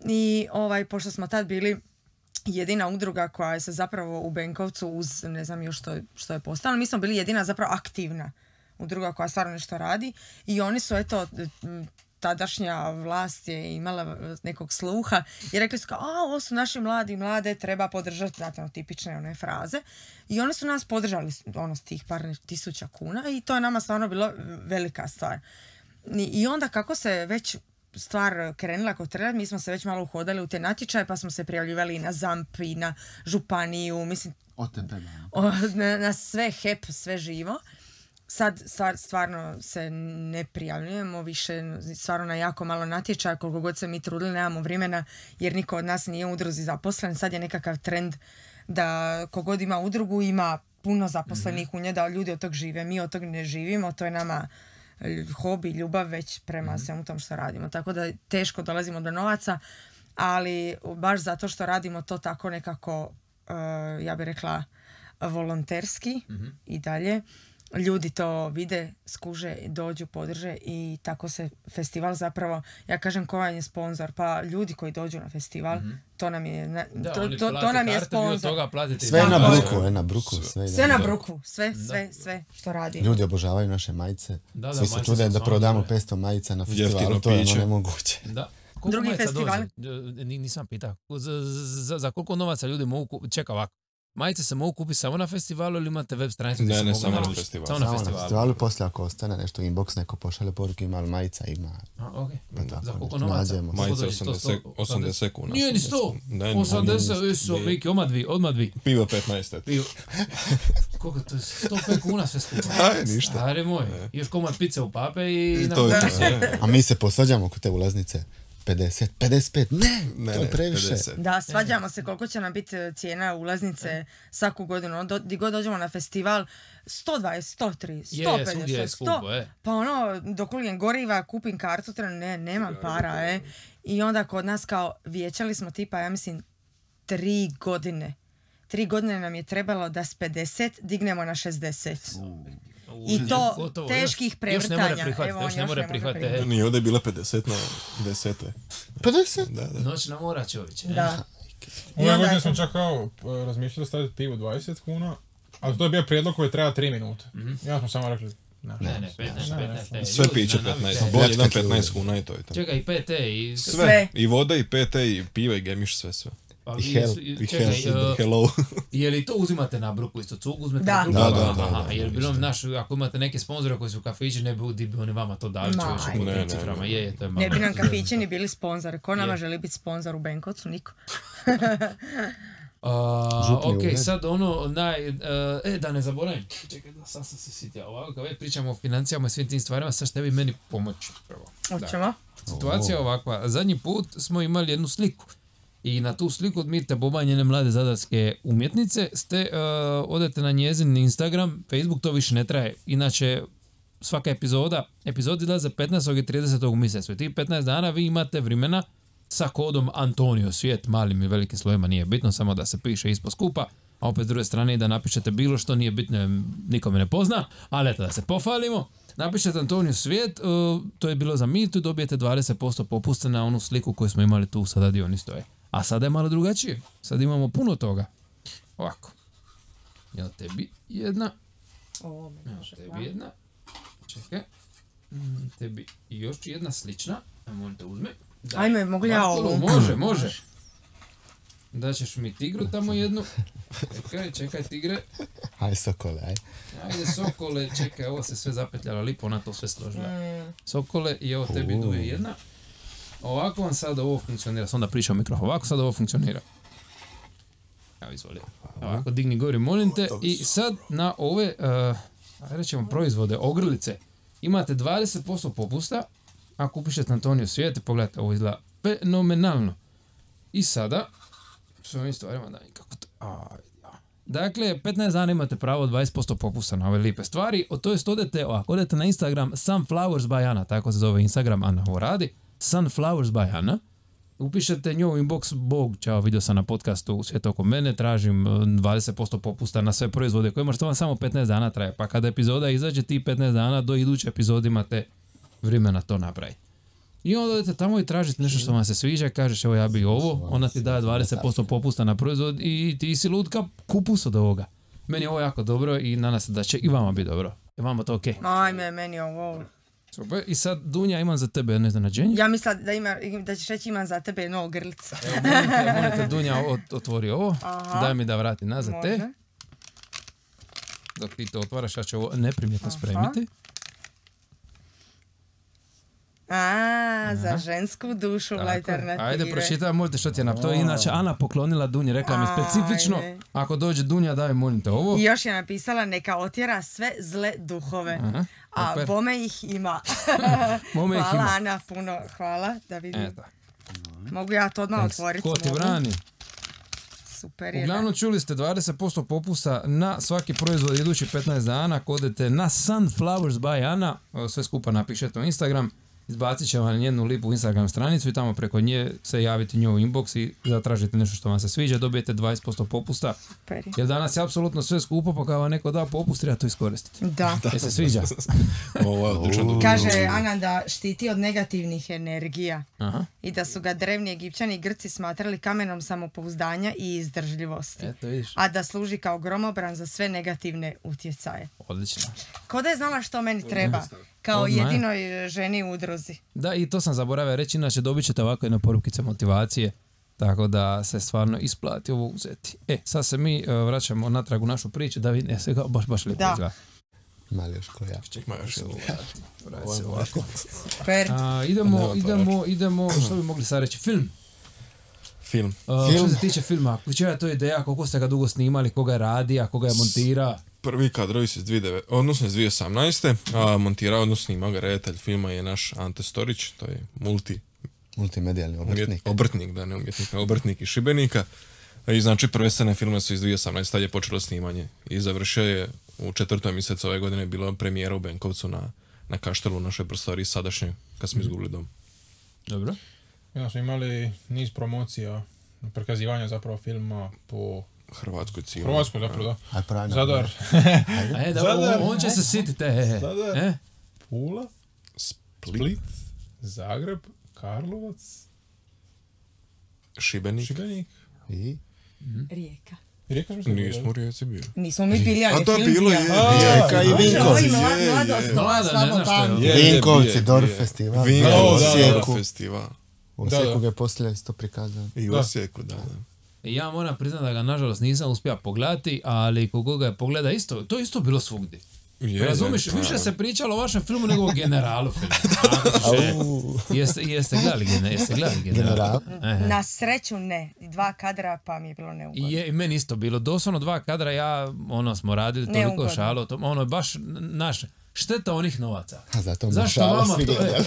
Speaker 5: I pošto smo tad bili jedina udruga koja se zapravo u Benkovcu uz, ne znam još što je postalo, mi smo bili jedina zapravo aktivna udruga koja stvarno nešto radi i oni su tadašnja vlast je imala nekog sluha i rekli su kao, ovo su naši mlade, treba podržati, znate, tipične one fraze. I oni su nas podržali s tih par tisuća kuna i to je nama stvarno bilo velika stvar. I onda kako se već stvar krenula kod treba, mi smo se već malo uhodali u te natječaje, pa smo se prijavljivali i na ZAMP i na županiju, mislim, na sve HEP, sve živo. Sad stvarno se ne prijavljujemo više, stvarno na jako malo natječaja, koliko god se mi trudili, nemamo vremena jer niko od nas nije u udruzi zaposlen. Sad je nekakav trend da kogod ima udrugu ima puno zaposlenih u nje, da ljudi od tog žive. Mi od tog ne živimo, to je nama hobi, ljubav već prema svemu tom što radimo. Tako da teško dolazimo do novaca, ali baš zato što radimo to tako nekako, ja bih rekla, volonterski i dalje. Ljudi to vide, skuže, dođu, podrže i tako se festival zapravo, ja kažem ko vam je sponsor, pa ljudi koji dođu na festival, to nam je, to nam je sponsor.
Speaker 3: Sve na bruku.
Speaker 5: Sve na bruku, sve što radi.
Speaker 3: Ljudi obožavaju naše majice, svi se čude da prodamo 500 majica na festivalu, to je nemoguće.
Speaker 2: Da.
Speaker 5: Drugi festival?
Speaker 2: Nisam pitao. Za koliko novaca ljudi mogu, čeka ovako. Majice se mogu kupiti samo na festivalu ili imate web stranicu?
Speaker 4: Ne, samo na festivalu.
Speaker 3: Samo na festivalu, poslije ako ostane nešto inbox, neko pošalje poruke, ima li majica, ima.
Speaker 2: Za koliko novaca?
Speaker 4: Majice 80 kuna.
Speaker 2: Nije ni 100. 80, su Miki, odmah dvi.
Speaker 4: Pivo 15.
Speaker 2: Koliko to je? 105 kuna sve skupa.
Speaker 4: Ništa.
Speaker 2: Stari moj, još komad pice u pape i...
Speaker 3: A mi se posvađamo kod te ulaznice. 50, 55, ne, to je previše.
Speaker 4: 50.
Speaker 5: Da, svađamo se koliko će nam biti cijena ulaznice svaku godinu. Di god dođemo na festival, 120, 130, 150, 100. Pa ono, dok ulijem goriva, kupim kartu, nemam para, I onda kod nas kao vijećali smo tipa, ja mislim, 3 godine. 3 godine nam je trebalo da s 50 dignemo na 60. I to gotovo, teških prevrtanja.
Speaker 2: Još ne more prihvatiti.
Speaker 4: Nije ovdje bila 50 na 10.
Speaker 3: 50?
Speaker 4: Da.
Speaker 2: Noćna mora, čovječe.
Speaker 5: Da.
Speaker 6: Ove godine smo čak kao razmišljali staviti pivu 20 kuna, ali to je bio prijedlog koji treba 3 minute. Ja smo samo rekli,
Speaker 2: ne, 15.
Speaker 4: Sve piće 15. Bolje dan 15 kuna i to je to.
Speaker 2: Čekaj, i PT i
Speaker 4: sve. I voda, i PT, i piva, i gemiš, sve.
Speaker 3: I
Speaker 4: hello.
Speaker 2: Je li to uzimate na bruku isto? Cug uzmete na bruku?
Speaker 4: Da.
Speaker 2: Jer bilo naš, ako imate neke sponzore koji su kafići, ne bi oni vama to dali čovječe po tim ciframa. To je malo.
Speaker 5: Ne bi nam kafići ni bili sponzori. Ko nama želi biti sponzor u Benkovcu? Niko.
Speaker 2: Ok, sad ono da ne zaboravim. Čekaj, da sam se sjetio. Ovako, kad već pričamo o financijama i svim tim stvarima, sad što bi meni pomoći prvo.
Speaker 5: Hoćemo?
Speaker 2: Situacija je ovakva. Zadnji put smo imali jednu sliku. I na tu sliku odmite Boba njene mlade zadarske umjetnice, odete na njezin Instagram, Facebook, to više ne traje. Inače, svaka epizoda izlaze 15. i 30. u mjesecu. I tih 15 dana vi imate vremena sa kodom Antonio Svijet, malim i velikim slovima, nije bitno, samo da se piše ispod skupa, a opet s druge strane da napišete bilo što, nije bitno, nikome ne pozna, ali eto da se pohvalimo. Napišete Antonio Svijet, to je bilo za Mitu, dobijete 20% popusta na onu sliku koju smo imali tu, sada di oni stoje. A sada je malo drugačije. Sad imamo puno toga. Ovako. Evo tebi jedna. Evo tebi jedna. Čekaj. Tebi još jedna slična. Možete uzme.
Speaker 5: Ajme, mogu ja ovu?
Speaker 2: Može. Daćeš mi tigru tamo jednu. Čekaj tigre.
Speaker 3: Ajde Sokole,
Speaker 2: Ajde Sokole, čekaj, ovo se sve zapetljalo lipo, ona to sve složila. Sokole i evo tebi duje jedna. Ovako vam sad ovo funkcionira, sam onda pričao mikrofon, ovako sad ovo funkcionira. Evo izvoli. Ovako digni gori, molim te. I sad na ove, rećemo proizvode, ogrlice, imate 20% popusta, ako upišete Antonio Svijet, pogledajte, ovo izgleda fenomenalno. I sada, s ovim stvarima da nikako to... Dakle, 15 dana imate pravo 20% popusta na ove lipe stvari, to jest odete na Instagram Sunflowers by Ana, tako se zove Instagram, Ana ovo radi. Sunflowers by Ana. Upišete njoj inbox, Bog, čao, vidio sam na podcastu Svijet oko mene, tražim 20% popusta na sve proizvode koje možete vam samo 15 dana traje. Pa kada epizoda izađe ti 15 dana, do iduće epizode imate vremena to napraviti. I onda odete tamo i tražite nešto što vam se sviđa, kažeš evo ja bi ovo, ona ti daje 20% popusta na proizvod i ti si lutka, kupus od ovoga. Meni je ovo jako dobro i nadam se da će i vama biti dobro. Je vama to okej?
Speaker 5: Ajme, meni ovo...
Speaker 2: Super. I sad, Dunja, imam za tebe jedno iznenađenje.
Speaker 5: Ja mislim da ćeš reći imam za tebe jedno ogrlice.
Speaker 2: Molite, Dunja, otvori ovo. Aha. Daj mi da vrati nazad te. Dok ti to otvaraš, ja ću ovo neprimjetno spremiti.
Speaker 5: Za žensku dušu u alternativi.
Speaker 2: Ajde, pročitaj, možete što ti je napisala. To je inače Ana poklonila Dunji, rekla mi specifično, ako dođe Dunja, daj molim te ovo.
Speaker 5: I još je napisala neka otjera sve zle duhove. A bome ih ima. Hvala Ana, puno hvala da vidim. Mogu ja to odmah otvoriti.
Speaker 2: Ko ti brani?
Speaker 5: Super je.
Speaker 2: Uglavnom čuli ste 20% popusta na svaki proizvod idući 15 dana. Ako odete na Sunflowers by Ana, sve skupa napišete u Instagram, izbacit će vam jednu lipu Instagram stranicu i tamo preko nje se javite njoj u inbox i zatražite nešto što vam se sviđa, dobijete 20% popusta. Super. Jer danas je apsolutno sve skupo, pa kada vam neko da popust, treba to iskoristiti.
Speaker 5: Da.
Speaker 2: Jer se sviđa.
Speaker 5: Kaže Ana da štiti od negativnih energija. Aha. I da su ga drevni Egipćani i Grci smatrali kamenom samopouzdanja i izdržljivosti. A da služi kao gromobran za sve negativne utjecaje.
Speaker 2: Odlično.
Speaker 5: Ko da je znala što meni treba? Kao jedinoj ženi u udruzi.
Speaker 2: Da, i to sam zaboravio reći, inače dobit ćete ovako jedne porukice motivacije, tako da se stvarno isplati ovo uzeti. Sad se mi vraćamo natrag u našu priču, da vidim, se baš lijepo izgleda.
Speaker 3: Mali još koja.
Speaker 4: Čekaj, još se
Speaker 2: ovako. Idemo, što bi mogli sad reći, film. Što se tiče filma, čija je to ideja, koliko ste ga dugo snimali, koga je radi, a koga je montira?
Speaker 4: Prvi kadrovi su iz 2018. A montirao, odnosno snimao ga redatelj filma je naš Ante Storić, to je
Speaker 3: multimedijalni obrtnik.
Speaker 4: Obrtnik, da, ne umjetnik, obrtnik iz Šibenika. I znači prve scene filma su iz 2018. tad je počelo snimanje i završio je u 4. mjesecu ove godine, bila premijera u Benkovcu na Kaštelu u našoj prostoriji sadašnjoj, kad smo izgubili dom.
Speaker 2: Dobro.
Speaker 6: Ja smo imali niz promocija, prikazivanja zapravo filma po
Speaker 4: Hrvatskoj cijeli.
Speaker 6: Hrvatskoj zapravo, da.
Speaker 3: Aj, pravi
Speaker 6: Zadar.
Speaker 2: Da, on će se sititi.
Speaker 6: Zadar. Pula. Split. Zagreb. Karlovac.
Speaker 4: Šibenik.
Speaker 3: I?
Speaker 5: Rijeka.
Speaker 6: Rijeka smo se
Speaker 4: Nismo u Rijeci bili.
Speaker 5: Nismo mi bili, ali
Speaker 4: A to je
Speaker 5: film
Speaker 4: bilo
Speaker 5: bio.
Speaker 3: Rijeka i Vinkovci.
Speaker 2: Mlada, ne znaš što je.
Speaker 3: Vinkovci, Dorf festival.
Speaker 4: Vinkovci,
Speaker 3: Osijeku.
Speaker 4: festival.
Speaker 3: U Osijeku ga je poslije isto prikazano.
Speaker 4: I u Osijeku, da.
Speaker 2: Ja moram priznati da ga nažalost nisam uspio pogledati, ali kogo ga je pogleda isto, to je isto bilo svugdje. Razumiš, više se pričalo o vašem filmu nego o generalu filmu. Jeste gledali general?
Speaker 5: Na sreću ne. 2 kadra pa mi je bilo neugodno.
Speaker 2: I meni isto bilo. Doslovno 2 kadra, smo radili toliko šalo. Ono je baš naše. Šteta onih novaca.
Speaker 3: A zato
Speaker 2: zašto
Speaker 3: šalo
Speaker 2: vama
Speaker 3: svi
Speaker 2: to
Speaker 3: gledali.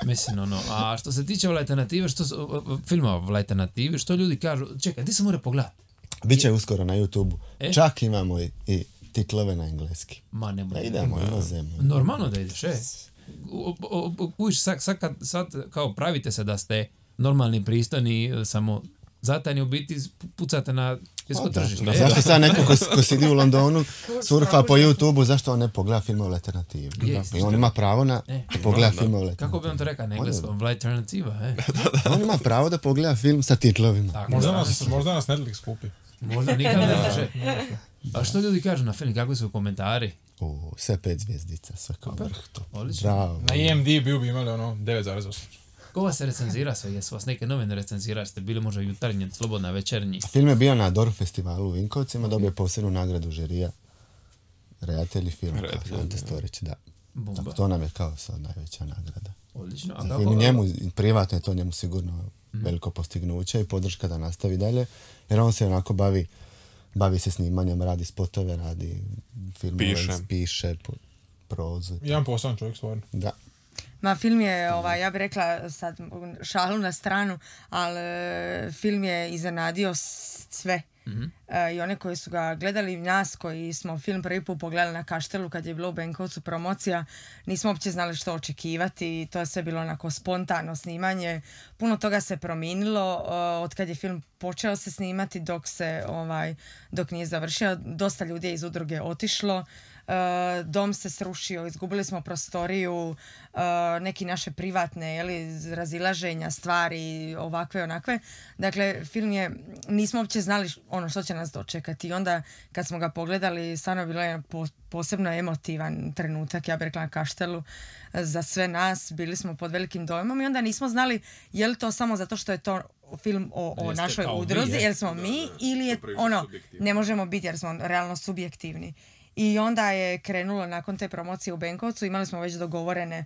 Speaker 2: Mislim, a što se tiče alternative, filma o alternativi, što ljudi kažu, čekaj, di se mora pogledati?
Speaker 3: Biće uskoro na YouTube-u. Čak imamo i titlove na engleski.
Speaker 2: Ma ne bude.
Speaker 3: Idemo, inozemno.
Speaker 2: Normalno da ideš, sad kao pravite se da ste normalni, pristojni, samo zatajni u biti pucate na svjetsko tržište.
Speaker 3: Zašto sad neko ko sidi u Londonu surfa po YouTube-u, zašto on ne pogleda filme o alternativi? I on ima pravo na pogleda filme o alternativi.
Speaker 2: Kako bi on to rekao na engleskom? Alternativa,
Speaker 3: On ima pravo da pogleda film sa titlovima.
Speaker 6: Možda nas Netflix kupi.
Speaker 2: Možda nikad ne može. A što ljudi kažu na film? Kakvi su komentari?
Speaker 3: Sve 5 zvjezdica, sve kao vrh to.
Speaker 2: Odlično.
Speaker 6: Na IMDb bi imali 9,8.
Speaker 2: Ko vas se recenzira sve? Jesu vas neke novine recenzirali? Ste bili možda jutarnji, slobodna, večernji?
Speaker 3: Film je bio na Dorf festivalu u Vinkovcima, dobio posebnu nagradu žirija. Redatelji filma, Ante Storić, da. Tako, to nam je kao sad najveća nagrada.
Speaker 2: Odlično.
Speaker 3: Za film njemu, privatno je to njemu sigurno veliko postignuće i podrška da nastavi dalje, jer on se onako bavi se snimanjem, radi spotove, radi filmove, piše prozu.
Speaker 6: Jedan poslan čovjek stvarno.
Speaker 3: Da.
Speaker 5: Ma film je, ja bih rekla sad šalu na stranu, ali film je iznenadio sve. I one koji su ga gledali, nas koji smo film prvi put pogledali na Kaštelu kad je bilo u Benkovcu promocija, nismo uopće znali što očekivati. To je sve bilo onako spontano snimanje. Puno toga se promijenilo od kad je film počeo se snimati dok nije završio. Dosta ljudi je iz udruge otišlo. Dom se srušio, izgubili smo prostoriju, neki naše privatne razilaženja, stvari, ovakve, onakve. Dakle, film je, nismo uopće znali što će nas dočekati. I onda, kad smo ga pogledali, stvarno bilo je posebno emotivan trenutak, ja bih rekla, na Kaštelu za sve nas. Bili smo pod velikim dojmom i onda nismo znali je li to samo zato što je to film o našoj udruzi, jer smo mi, ili je ne možemo biti jer smo realno subjektivni. I onda je krenulo nakon te promocije u Benkovcu, imali smo već dogovorene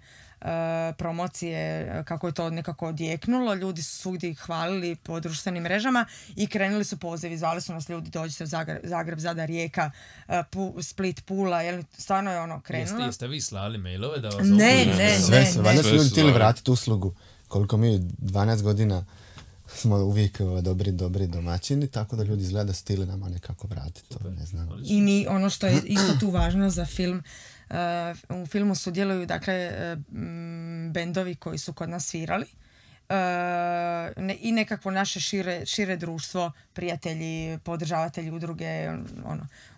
Speaker 5: promocije kako je to nekako odjeknulo, ljudi su svugdje hvalili po društvenim mrežama i krenuli su pozivi, zvali su nas ljudi, dođite u Zagreb, Zadar, Rijeka, Split, Pula, stvarno je krenulo.
Speaker 2: Jeste vi slali mailove da vas
Speaker 5: Ne.
Speaker 3: Valjda su ljudi htjeli vratiti uslugu, koliko mi 12 godina smo uvijek dobri domaćini, tako da ljudi izgleda da su htjeli nama nekako vratiti. Ne znam.
Speaker 5: I mi, ono što je isto tu važno za film, u filmu sudjeluju bendovi koji su kod nas svirali i nekakvo naše šire društvo, prijatelji, podržavatelji udruge,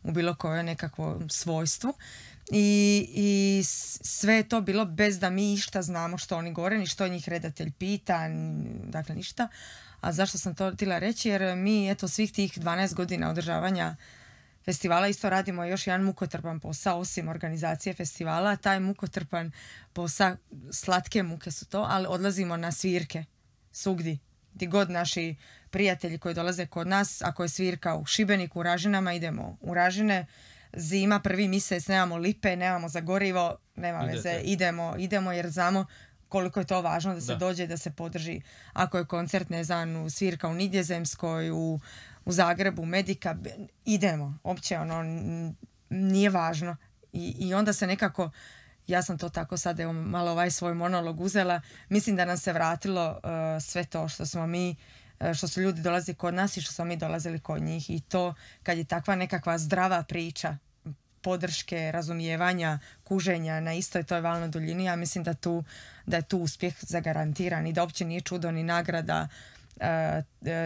Speaker 5: u bilo koje nekakvo svojstvu. I sve je to bilo bez da mi išta znamo što oni govore, ni što njih redatelj pita, dakle ništa. A zašto sam to htjela reći? Jer mi, svih tih 12 godina održavanja festivala isto radimo još jedan mukotrpan posao, osim organizacije festivala. Taj mukotrpan posao, slatke muke su to, ali odlazimo na svirke svugdje. Gdje god naši prijatelji koji dolaze kod nas, ako je svirka u Šibeniku, u Ražinama, idemo u Ražine. Zima, 1. mjesec, nemamo lipe, nemamo za gorivo, nema veze, idemo jer znamo koliko je to važno da se dođe, da se podrži. Ako je koncert, ne znam, svirka u Nidjezemskoj, u Zagrebu, Medika, idemo. Uopće, nije važno. I onda se nekako ja sam to tako sad, evo, malo ovaj svoj monolog uzela. Mislim da nam se vratilo sve to što smo mi, što su ljudi dolazili kod nas i što smo mi dolazili kod njih. I to kad je takva nekakva zdrava priča, podrške, razumijevanja, kuženja na istoj toj valnoj duljini, ja mislim da je tu uspjeh zagarantiran i da uopće nije čudo ni nagrada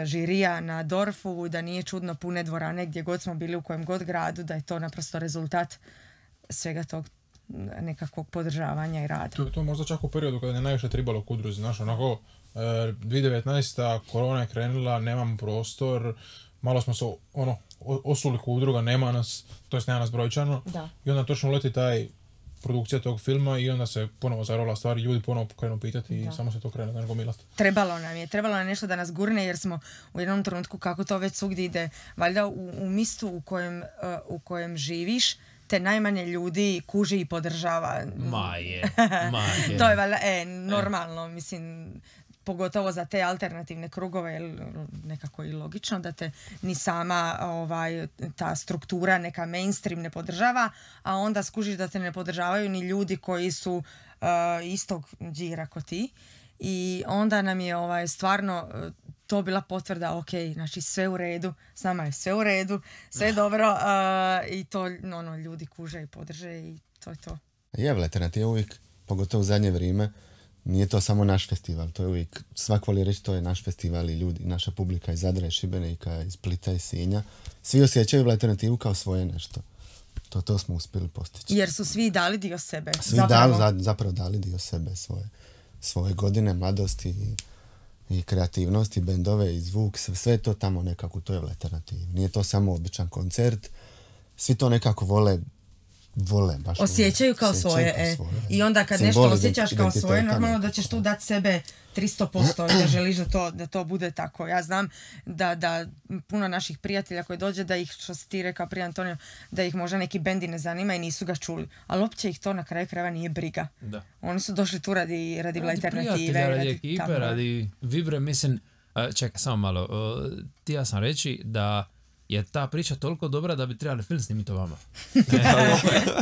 Speaker 5: žirija na Dorfu, da nije čudno pune dvorane gdje god smo bili u kojem god gradu, da je to naprosto rezultat svega tog nekakvog podržavanja i rada.
Speaker 6: To možda čak u periodu kada je najviše tribalo k udruzi, znaš, onako 2019. korona je krenula, nemamo prostor, malo smo se osuli k udruga, nema nas, to jest nema nas brojčano, i onda točno uleti taj produkcija tog filma i onda se ponovo zarola stvari, ljudi ponovo krenu pitati i samo se to krene, znaš, gomilati.
Speaker 5: Trebalo nam nešto da nas gurne jer smo u jednom trenutku, kako to već svugdje ide, valjda u mistu u kojem živiš, te najmanje ljudi kuži i podržava.
Speaker 2: Maje.
Speaker 5: To je valjda normalno, mislim, pogotovo za te alternativne krugove, nekako i logično da te ni sama ta struktura neka mainstream ne podržava, a onda skužiš da te ne podržavaju ni ljudi koji su istog đira ko ti. I onda nam je stvarno to bila potvrda, ok, znači sve u redu, s nama je sve u redu, sve je dobro i to ljudi kuže i podrže i to je to.
Speaker 3: Je, alternativa uvijek, pogotovo u zadnje vrijeme, nije to samo naš festival, to je uvijek, svak voli reći to je naš festival i ljudi, naša publika iz Zadra i Šibenika, iz Splita i Sinja, svi osjećaju alternativu kao svoje nešto. To smo uspjeli postići.
Speaker 5: Jer su svi dali dio sebe.
Speaker 3: Svi zapravo dali dio sebe, svoje godine, mladosti i kreativnosti, bendove i zvuk, sve to tamo nekako, to je alternativu. Nije to samo običan koncert, svi to nekako vole baš
Speaker 5: osjećaju kao svoje. I onda kad nešto osjećaš kao svoje, normalno da ćeš tu dati sebe 300% i da želiš da to bude tako. Ja znam da puno naših prijatelja koji dođe, da ih, što si ti rekao prije Antonio, da ih možda neki bendi ne zanima i nisu ga čuli. Ali uopće ih to na kraju krajeva nije briga. Da. Oni su došli tu radi alternative.
Speaker 2: Radi ekipe, radi vibre. Mislim, čekaj, samo malo. Ti ja sam reći da je ta priča toliko dobra da bi trebali film snimiti o vama.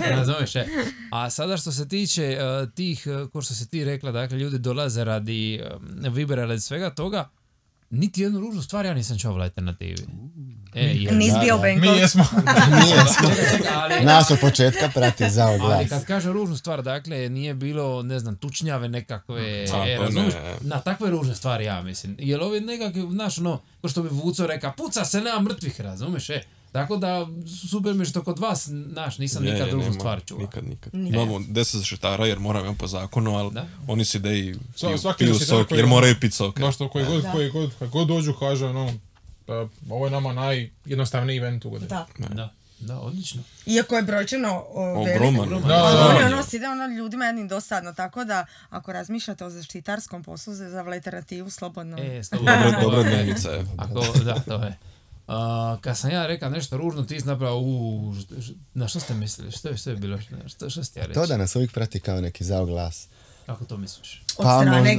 Speaker 2: Razumiješ, A sada što se tiče tih, ko što si ti rekla, dakle, ljudi dolaze radi vibera, radi svega toga, niti jednu ružnu stvar ja nisam čuo u alternativi.
Speaker 5: Nis bio Benkovac.
Speaker 3: Mi jesmo. Nas od početka prati za oglas.
Speaker 2: Ali kad kaže ružnu stvar, dakle, nije bilo, ne znam, tučnjave nekakve, razumiješ? Na takve ružne stvari, ja mislim. Jer ovi nekakve, znaš, ko što bi Vuco reka, puca se, nema mrtvih, razumiješ, Tako da, super mi što kod vas, nisam nikad ružnu stvar čuo.
Speaker 4: Nikad. Imamo 10 zaštitara jer moramo po zakonu, ali oni si da i piju sok jer moraju piti sok.
Speaker 6: Znaš to, koji god dođu kaže, ovo je nama najjednostavniji event u godini.
Speaker 2: Da, odlično.
Speaker 5: Iako je brojčano
Speaker 4: ogroman.
Speaker 5: Ide ljudima jednim dosadno, tako da ako razmišljate o zaštitarskom poslu za alternativu, slobodno.
Speaker 4: Dobra dnevnica je.
Speaker 2: Da, to je. Kad sam ja rekao nešto ružno, ti si napravo, na što ste mislili? Što je bilo? Što ste ja reći?
Speaker 3: To da nas uvijek prati kao neki zaoglas.
Speaker 2: Kako to misliš?
Speaker 5: Od strane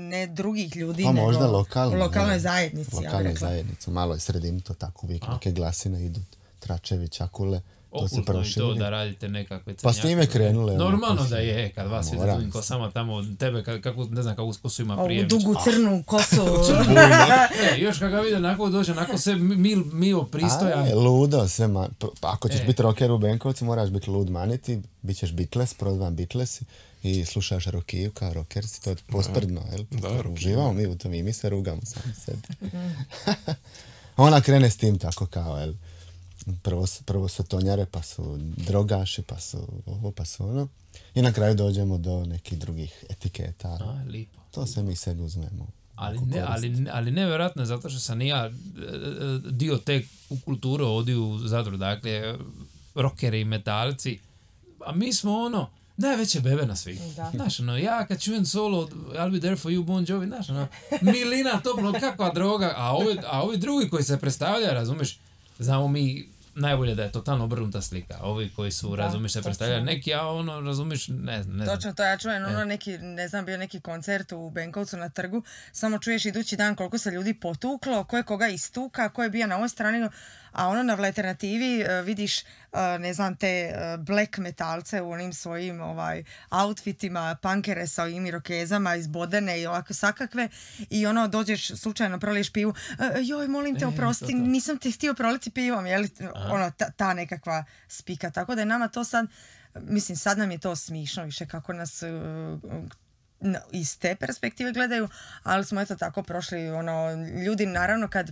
Speaker 5: ne drugih ljudi, nego
Speaker 3: možda
Speaker 5: lokalnoj zajednici.
Speaker 3: Lokalnoj zajednici, maloj sredini, to tako uvijek neke glasine idu, tračevi, čakule.
Speaker 2: Okultno i to da radite nekakve
Speaker 3: crnjake. Pa s njime krenule.
Speaker 2: Normalno da je, kad vas vidi drugim kosama tamo, tebe, ne znam kakvu kosu ima prije.
Speaker 5: Ovu dugu crnu kosu.
Speaker 2: Još kad ga vide, onako dođe, onako sve mio pristojan.
Speaker 3: Ludo, sve ako ćeš biti rocker u Benkovcu, moraš biti lud maniti, bit ćeš Beatles, prozvan Beatlesi i slušaš rokiju kao rockersi, to je posprdno, jel? Uživamo mi u tom i mi se rugamo sami sebi. Ona krene s tim tako kao, jel? Prvo su tonjare, pa su drogaši, pa su ovo, pa su ono. I na kraju dođemo do nekih drugih etiketa.
Speaker 2: Lipo.
Speaker 3: To se mi sebi uzmemo.
Speaker 2: Ali nevjerojatno, zato što sam i ja dio te kulture ovdje u Zadru, dakle, rockeri i metalci, a mi smo najveće bebe na svijetu. Znaš, ja kad čujem solo I'll be there for you, Bon Jovi, znaš, milina, toplo, kakva droga, a ovi drugi koji se predstavljaju, razumiješ, znamo mi najbolje da je totalno obrnuta slika. Ovi koji su, razumiješ, se predstavljaju neki, a razumiješ, ne znam.
Speaker 5: Točno, to ja čujem, neki, ne znam, bio neki koncert u Benkovcu na trgu, samo čuješ idući dan koliko se ljudi potuklo, ko je koga istuka, ko je bio na ovoj strani, a na alternativi vidiš ne znam, te black metalce u onim svojim outfitima, punkere sa ovim irokezama izbodene i ovako sakakve i ono dođeš slučajno proliješ pivu, joj molim te oprosti, nisam te htio proliti pivom, je li ono ta nekakva spika, tako da je nama to sad, mislim sad nam je to smišno više kako nas iz te perspektive gledaju, ali smo eto tako prošli, ono, ljudi naravno kad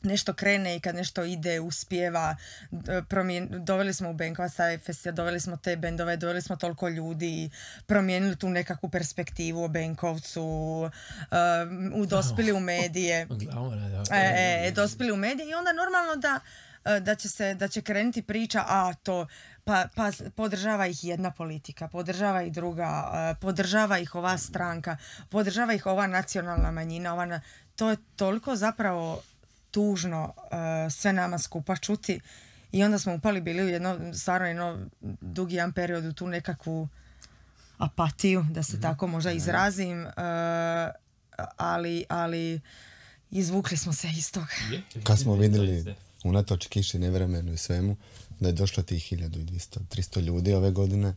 Speaker 5: nešto krene i kad nešto ide, uspijeva, doveli smo u Benkovac taj festival, doveli smo te bendove, doveli smo toliko ljudi, promijenili tu nekakvu perspektivu o Benkovcu, dospili u medije. Dospili u medije i onda normalno da će krenuti priča, pa podržava ih jedna politika, podržava ih druga, podržava ih ova stranka, podržava ih ova nacionalna manjina, to je toliko zapravo tužno sve nama skupa čuti i onda smo upali bili u jedno dugi jedan period u tu nekakvu apatiju, da se tako možda izrazim, ali izvukli smo se iz toga.
Speaker 3: Kad smo vidjeli unatoč kiši, nevremenu i svemu, da je došlo tih 1200-300 ljudi ove godine,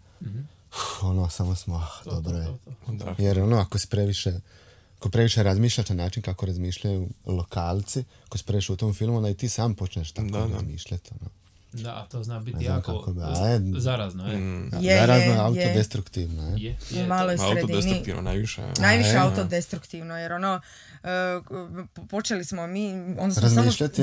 Speaker 3: samo smo, dobro je. Jer ako si previše razmišljaš na način kako razmišljaju lokalci, ako si previše u tom filmu, onda i ti sam počneš tako razmišljati.
Speaker 2: Da, to zna biti jako zarazno.
Speaker 3: Zarazno, autodestruktivno.
Speaker 5: U maloj sredini.
Speaker 4: Autodestruktivno najviše.
Speaker 5: Najviše autodestruktivno, jer počeli smo mi
Speaker 3: razmišljati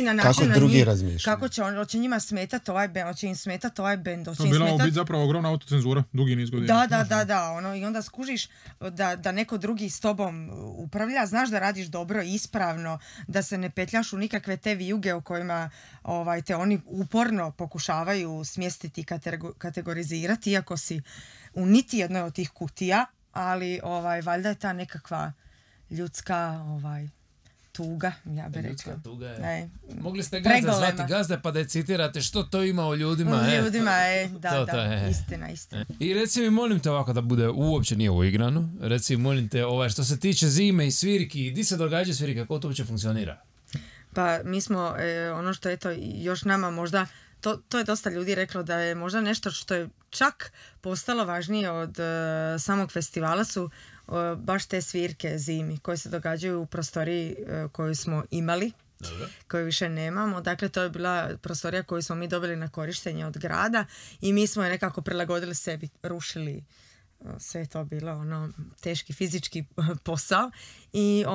Speaker 5: na način
Speaker 3: kako drugi razmišljaju.
Speaker 5: Kako će njima smetati ovaj bend, hoće im smetati ovaj bend.
Speaker 6: To je bila biti zapravo ogromna autocenzura, dugi niz godina.
Speaker 5: Da, i onda skužiš da neko drugi s tobom upravlja, znaš da radiš dobro i ispravno, da se ne petljaš u nikakve te vijuge o kojima te oni uporno pokušavaju smjestiti i kategorizirati, iako si u niti jednoj od tih kutija, ali valjda je ta nekakva ljudska tuga, ja bih rekla.
Speaker 2: Ljudska tuga je. Mogli ste Gazda zvati Gazda pa da je citirate što to ima o ljudima.
Speaker 5: Istina.
Speaker 2: I reci mi, molim te ovako da bude, uopće nije uigrano, reci mi, molim te, što se tiče zime i svirki, di se događa svirka, kako to uopće funkcionira?
Speaker 5: Pa mi smo, ono što je to još nama možda, to je dosta ljudi reklo da je možda nešto što je čak postalo važnije od samog festivala su baš te svirke zimi koje se događaju u prostoriji koju smo imali, koju više nemamo. Dakle, to je bila prostorija koju smo mi dobili na korištenje od grada i mi smo je nekako prilagodili sebi, rušili. Sve je to bilo teški fizički posao i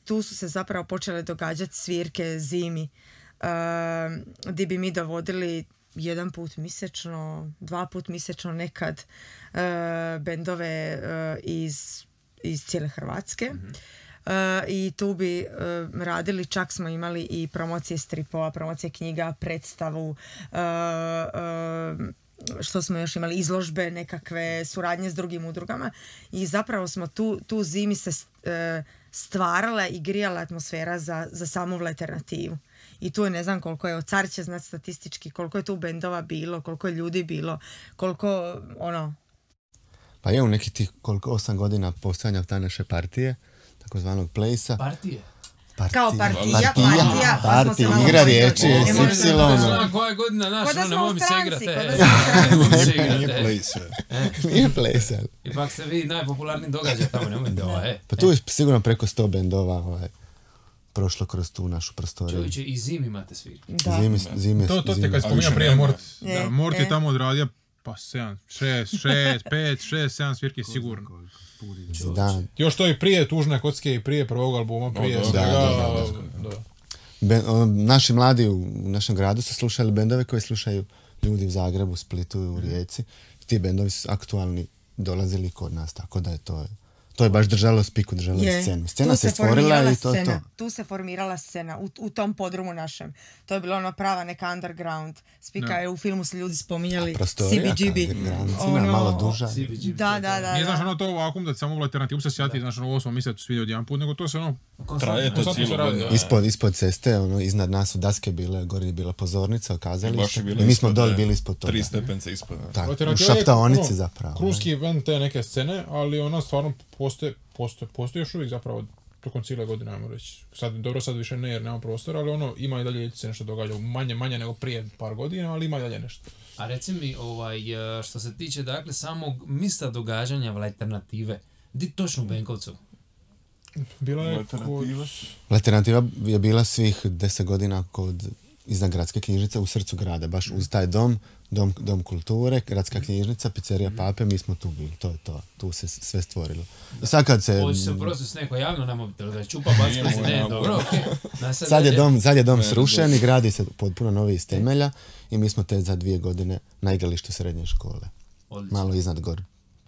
Speaker 5: tu su se zapravo počele događati svirke zimi gdje bi mi dovodili 1 put mjesečno, 2 put mjesečno nekad bendove iz cijele Hrvatske. I tu bi radili, čak smo imali i promocije stripova, promocije knjiga, predstavu, što smo još imali, izložbe, nekakve suradnje s drugim udrugama i zapravo smo tu zimi se stvarala i grijala atmosfera za samu alternativu. I tu je, ne znam koliko je, Car će znati statistički, koliko je tu bendova bilo, koliko je ljudi bilo, koliko
Speaker 3: Pa je u nekih tih 8 godina postojanja ta naše partije, takozvanog Place-a.
Speaker 2: Partije?
Speaker 5: Kao partija,
Speaker 3: igra riječi,
Speaker 2: Znam koja je godina naša, ne mogu se igrati.
Speaker 3: Nije Place.
Speaker 2: Ipak ste vi najpopularniji događaj tamo, nemojte
Speaker 3: Pa tu je sigurno preko 100 bendova prošlo kroz tu našu prostoriju.
Speaker 2: Čovječe, i zimi imate svi.
Speaker 3: Zime.
Speaker 6: To te kad spominja prije Mort. Mort je tamo odradio pa 7, 6, 5, 6, 7 svirki sigurno. Još to i prije Tužne kocke i prije prvog albuma, prije svega.
Speaker 3: Naši mladi u našem gradu su slušali bendove koje slušaju ljudi u Zagrebu, Splitu i u Rijeci. Ti bendovi su aktualni dolazili kod nas, tako da je to je baš držalo spiku, držalo scenu. Scena se stvorila i to.
Speaker 5: Tu se formirala scena u tom podrumu našem. To je bilo prava neka underground. Spika je u filmu se ljudi spominjali CBGB.
Speaker 3: Malo duža.
Speaker 5: Da.
Speaker 6: Nije znaš to vakum da samo u alternativu se sjati, znaš ovo smo mislili svidio jedan put, nego to se
Speaker 4: traje to cijelo godina.
Speaker 3: Ispod ceste, iznad nas su daske bile, gore je bila pozornica, okazalište. I mi smo doli bili ispod toga.
Speaker 4: 3 stepence ispod.
Speaker 3: U šaptaonici zapravo.
Speaker 6: Kruški event te neke scene, ali stvarno postoji još uvijek zapravo tokom cijele godine, ajmo reći. Sad više ne jer nema prostora, ali ima i dalje se nešto događa, manje nego prije par godina, ali ima i dalje nešto.
Speaker 2: A reci mi, što se tiče dakle samog mista događanja v Alternative, di točno u Benkovcu?
Speaker 6: Bila je
Speaker 3: Alternativa je bila svih 10 godina iznad gradske knjižnice u srcu grada, baš uz taj dom kulture, gradska knjižnica, pizzerija Pape, mi smo tu bili, to je to, tu se sve stvorilo. I sad kad se...
Speaker 2: Hoće se uprosti s neko javno na mobitelu, da je čupa baskalici, ne, dobro, okej.
Speaker 3: Sad je dom srušen i gradi se potpuno novi iz temelja i mi smo te za 2 godine na igralištu srednje škole.
Speaker 2: Odlično.
Speaker 3: Malo iznad gore.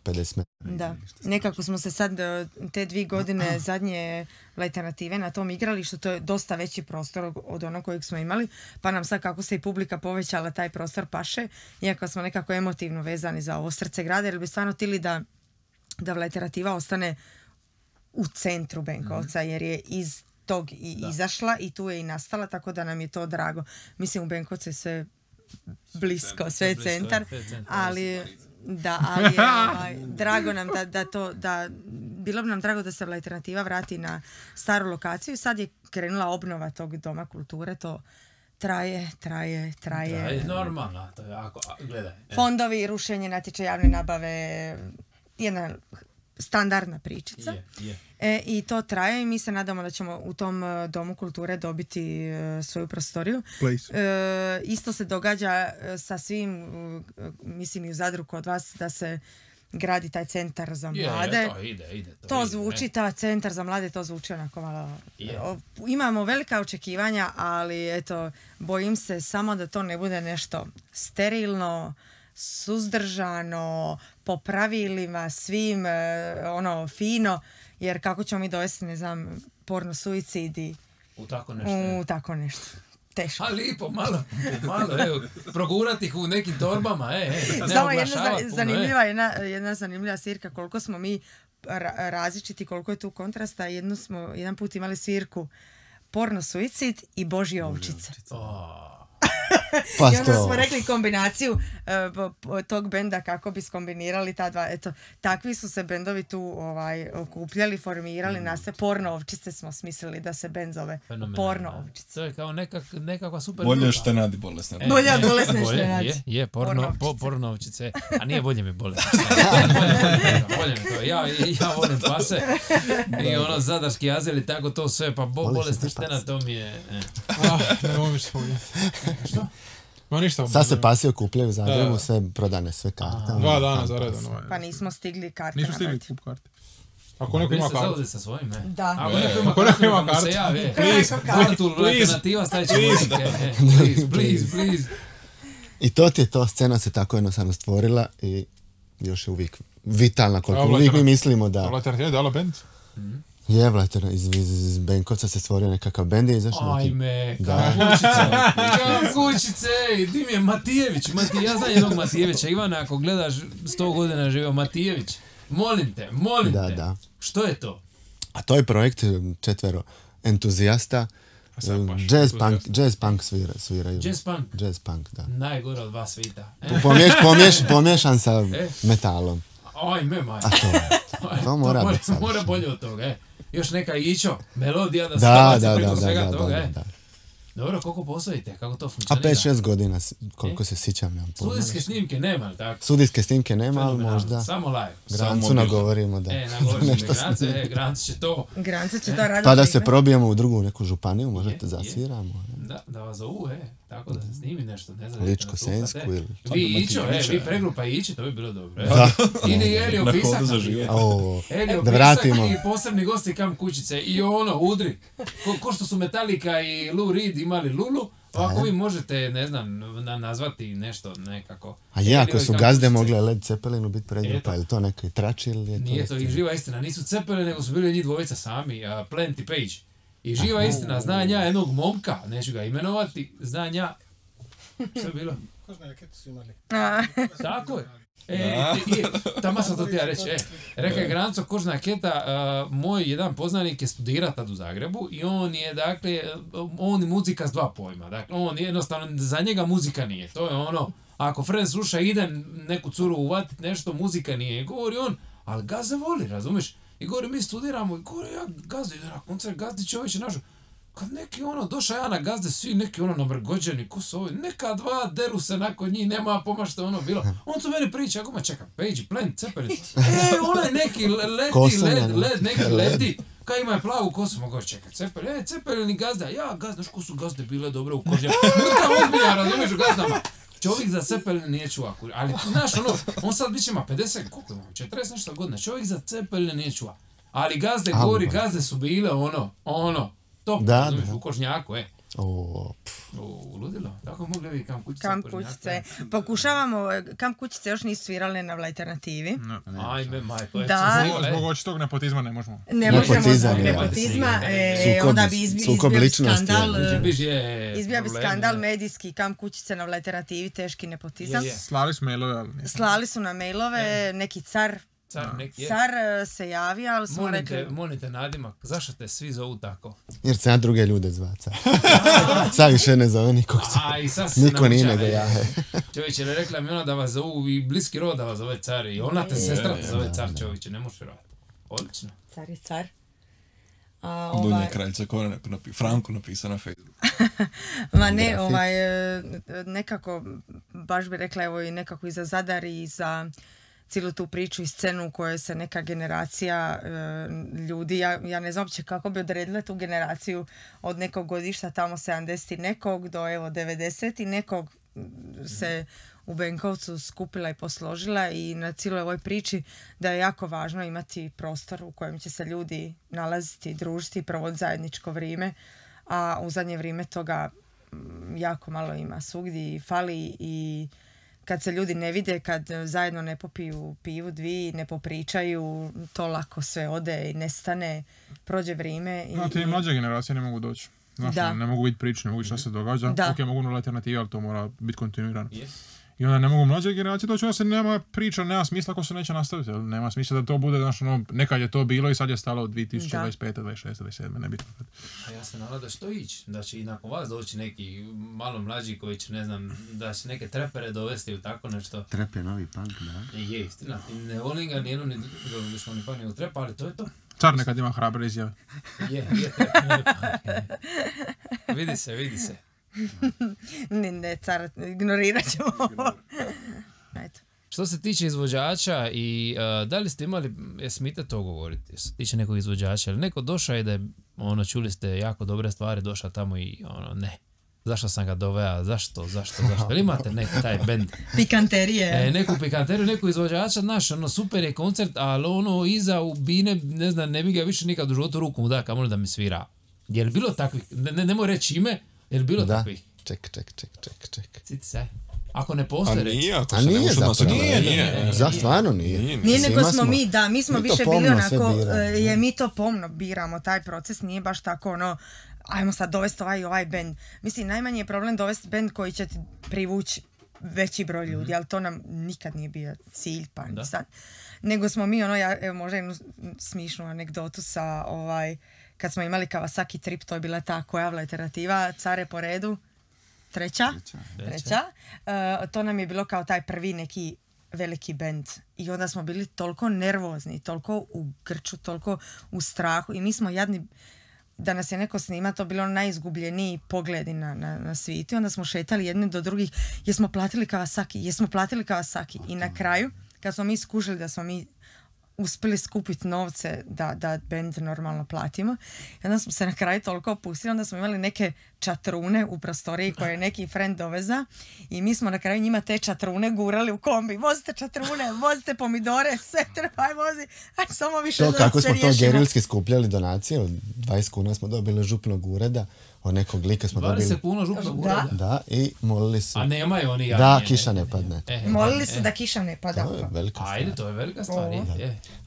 Speaker 3: 50 metara.
Speaker 5: Da, nekako smo se sad te 2 godine zadnje Alternative na tom igralištu, to je dosta veći prostor od onog kojeg smo imali, pa nam sad kako se i publika povećala taj prostor paše, iako smo nekako emotivno vezani za ovo srce grada, jer bi stvarno htjeli da Alternativa ostane u centru Benkovca, jer je iz tog i izašla i tu je i nastala, tako da nam je to drago. Mislim, u Benkovcu je sve blisko, sve je centar, ali... Da, ali drago nam bilo bi nam drago da se Alternativa vrati na staru lokaciju. Sad je krenula obnova tog doma kulture, to traje.
Speaker 2: Normalno, to je jako, gledaj.
Speaker 5: Fondovi, rušenje natječaja javne nabave, jedna standardna pričica. I to traje i mi se nadamo da ćemo u tom domu kulture dobiti svoju prostoriju. Isto se događa sa svim, mislim i u Zadru kod vas, da se gradi taj centar za mlade. To zvuči, ta centar za mlade, to zvuči onako malo... Imamo velika očekivanja, ali eto, bojim se samo da to ne bude nešto sterilno, suzdržano, po pravilima, svim, fino, jer kako ćemo mi dovesti, ne znam, porno suicidi
Speaker 2: u tako nešto.
Speaker 5: Teško.
Speaker 2: A lipo, malo, evo, progurati ih u nekim torbama,
Speaker 5: Samo jedna zanimljiva svirka, koliko smo mi različiti, koliko je tu kontrasta. Jedan put imali svirku porno suicid i Božje ovčice. I onda smo rekli kombinaciju tog benda kako bi skombinirali ta dva. Eto, takvi su se bendovi tu okupljali, formirali nas. Porno ovčice smo smislili da se bend zove Porno ovčice.
Speaker 2: To je kao nekakva super
Speaker 4: bolje štenadi bolesne.
Speaker 5: Bolje od bolesne štenadi.
Speaker 2: Je, porno ovčice. A nije bolje mi bolesne. Bolje mi to. Ja volim pase i zadarski azeli, tako to sve, pa bolesna štena, to mi je...
Speaker 6: Ne mogu što spominjati.
Speaker 2: Što?
Speaker 3: Sad se pasi okupljaju u Zagrebu, sve prodane, sve karte.
Speaker 6: 2 dana za redom.
Speaker 5: Pa nismo stigli karte.
Speaker 6: Nismo stigli kup karte. Ako neko ima karte.
Speaker 2: Sa svojim, ne?
Speaker 5: Da.
Speaker 2: Ako neko ima karte, se javi. Alternativa stavit će muzike. Please.
Speaker 3: I to ti je to, scena se tako jednostavno stvorila i još je uvijek vitalna koliko uvijek mi mislimo da...
Speaker 6: Alternativa je dala band?
Speaker 3: Je, Vlater, iz Benkovca se stvorio nekakav bend i izašao neki...
Speaker 2: Ajme, kućice, di mi je Matijević, ja znam jednog Matijevića, Ivana, ako gledaš 100 godina živio Matijević, molim te,
Speaker 3: Da.
Speaker 2: Što je to?
Speaker 3: A to je projekt 4 entuzijasta, jazz punk sviraju. Jazz punk, da.
Speaker 2: Najgore od 2 svita.
Speaker 3: Pomiješan sa metalom.
Speaker 2: Ajme, maj.
Speaker 3: A to mora biti savršeno.
Speaker 2: Mora bolje od toga, Još neka ićo, melodija da se baci preko svega toga, Dobro, koliko postojite? Kako to funkcionira?
Speaker 3: A 5-6 godina, koliko se sjećam.
Speaker 2: Studijske snimke nema, tako?
Speaker 3: Studijske snimke nema, ali možda...
Speaker 2: Samo live.
Speaker 3: Grancu nagovorimo da...
Speaker 2: Nagovorimo Grancu će to...
Speaker 5: Grancu će to raditi.
Speaker 3: Pa da se probijemo u drugu neku županiju, možete zasviramo.
Speaker 2: Da vas zovu, tako da se snimi nešto, ne znam.
Speaker 3: Ličko-Sensku ili...
Speaker 2: Vi ićo, vi pregrupa ići, to bi bilo dobro. Ili Elio Pisak.
Speaker 3: Da vratimo.
Speaker 2: I posebni gosti kam kućice. I udri. Ko što su Metallica i Lou Reed imali Lulu, ako vi možete, ne znam, nazvati nešto nekako.
Speaker 3: A ako su gazde mogle Led Zeppelinu biti pregrupa, ili to neki trači ili je to...
Speaker 2: Nije to i živa istina, nisu Zeppelin, nego su bili njih dvojica sami, Plenty Page. I živa istina, znam ja jednog momka, neću ga imenovati, znam ja... Što je bilo?
Speaker 7: Kožne rakete su imali.
Speaker 2: Tako je. Tamo sam to ti ja reći. Rekao je Granco, kožna raketa, moj jedan poznanik je studirao tad u Zagrebu i on je, dakle, on je muzika s 2 pojma. Dakle, on jednostavno, za njega muzika nije. To je ako friend sluša, ide neku curu uvatit nešto, muzika nije. Govori on, ali ga zavoli, razumiješ? I gore mi studiramo i gore ja Gazda ide na koncert, Gazdi čovječe našu. Kad neki došao ja na Gazde, svi neki namrgođeni, ko su ovi, neka dva deru se nakon njih, nema poma što je bilo. On tu meni priča, ako ma čeka, Page, Plant, Cepelin, onaj neki led, neki ledi, kaj ima je plavu kosu, mogu čekati, Cepelin, Cepelin i Gazda, Gazda, ko su Gazde bile dobre u kožnje, mrta ozbilja, razumiješ u Gazdama. Čovjek za Cepelin nije čuva, ali znaš on sad bit će ima 50, koliko ima, 40 nešto godina, čovjek za Cepelin nije čuva, ali Gazde gori, Gazde su bile top, razumiješ, u kožnjaku, ludilo, tako mogli vi Kamp kućice.
Speaker 5: Kamp kućice. Pokušavamo, Kamp kućice još nisu svirali na alternativi.
Speaker 2: Ajme, majko,
Speaker 6: zbog očitog nepotizma ne možemo.
Speaker 5: Ne možemo zbog nepotizma, onda bi izbio skandal. Izbio bi skandal medijski, Kamp kućice na alternativi, teški nepotizam.
Speaker 6: Slali su mailove, ali nije.
Speaker 5: Slali su na mailove, neki car se javio, ali smo rekli...
Speaker 2: Molite nadimak, zašto te svi zovu tako?
Speaker 3: Jer se ja druge ljude zvaca. Sad više ne zove nikog. Niko nije nego ja.
Speaker 2: Čovječe, rekla mi ona da vas zovu i bliski rod da vas zove car i ona te sestra te zove car, čovječe, ne možeš vjerovati. Odlično.
Speaker 5: Car je car.
Speaker 4: Dunja kraljica koja Franko napisao na Facebooku.
Speaker 5: Ma ne, nekako, baš bi rekla, evo i nekako i za Zadar i za cijelu tu priču i scenu u kojoj se neka generacija ljudi, ja ne znam uopće kako bi odredila tu generaciju od nekog godišta tamo 70 i nekog do evo 90 i nekog se u Benkovcu skupila i posložila i na cijeloj ovoj priči da je jako važno imati prostor u kojem će se ljudi nalaziti, družiti i provoditi zajedničko vrijeme, a u zadnje vrijeme toga jako malo ima, svugdje fali i kad se ljudi ne vide, kad zajedno ne popiju pivu dvi, ne popričaju, to lako sve ode i nestane, prođe vrijeme.
Speaker 6: Te mlađe generacije ne mogu doći. Ne mogu biti priče, ne mogu šta se događa. Ok, mogu nula alternativa, ali to mora biti kontinuirano. I onda ne mogu mlađe generacije doći, onda se nema priča, nema smisla ako se neće nastaviti. Nema smisla da to bude, nekad je to bilo i sad je stalo od 2025, 26, 27, nebitno.
Speaker 2: A ja se nadam da će to ići, da će i nakon vas doći neki malo mlađi koji će, ne znam, da će neke trepere dovesti ili tako nešto.
Speaker 3: Trep je novi punk, da.
Speaker 2: Je, istina. Ne volim ga nijedno, ni punk, ni trepa, ali to je to.
Speaker 6: Car nekad ima hrabre izjave.
Speaker 2: Je, vidi se.
Speaker 5: Ne, car, ignorirat ćemo ovo.
Speaker 2: Što se tiče izvođača i da li ste imali, smite to govoriti, što se tiče nekog izvođača, ili neko došao je da je, čuli ste jako dobre stvari, došao tamo i ne. Zašto sam ga doveo, zašto? Ili imate neki taj bend?
Speaker 5: Pikanterije.
Speaker 2: Neku pikanteriju, neku izvođača, super je koncert, ali iza u bine, ne znam, ne bi ga više nikad u životu ruku mu da, kamoli da mi svira. Je li bilo takvih, nemoj reći ime, je li bilo takvih?
Speaker 3: Ček.
Speaker 2: Citi se. Ako ne postoje reći.
Speaker 3: A nije zapravo. Nije. Stvarno nije.
Speaker 5: Nije nego smo mi smo više bili onako, mi to pomno biramo, taj proces nije baš tako ajmo sad dovesti ovaj band. Mislim, najmanji je problem dovesti band koji će ti privući veći broj ljudi, ali to nam nikad nije bio cilj, pa ni sad. Nego smo mi, možda jednu smišnu anegdotu sa kad smo imali Kawasaki Trip, to je bila ta koja alternativa, Care po redu, treća. To nam je bilo kao taj prvi neki veliki bend. I onda smo bili toliko nervozni, toliko u grču, toliko u strahu i mi smo jadni, da nas je neko snima, to bilo najizgubljeniji pogledi na svijetu. Onda smo šetali jedni do drugih, jesmo platili Kawasaki. I na kraju, kad smo mi skužili da smo mi uspjeli skupiti novce da band normalno platimo. I onda smo se na kraju toliko opustili, onda smo imali neke čatrune u prostoriji koje je neki friend doveza i mi smo na kraju njima te čatrune gurali u kombi. Vozite čatrune, vozite pomidore, sve trebaj vozi. Aj, samo više
Speaker 3: to,
Speaker 5: da se riješimo.
Speaker 3: Kako smo to gerilski skupljali donacije, od 20 kuna smo dobili župnog ureda, od nekog lika smo dobili...
Speaker 2: 20 kuna župnog ureda?
Speaker 3: Da, i molili su...
Speaker 2: A nemaju oni
Speaker 3: javnje? Da, kiša ne padne.
Speaker 5: Molili su da kiša ne pada.
Speaker 3: To je velika stvar.
Speaker 2: Ajde, to je velika stvar.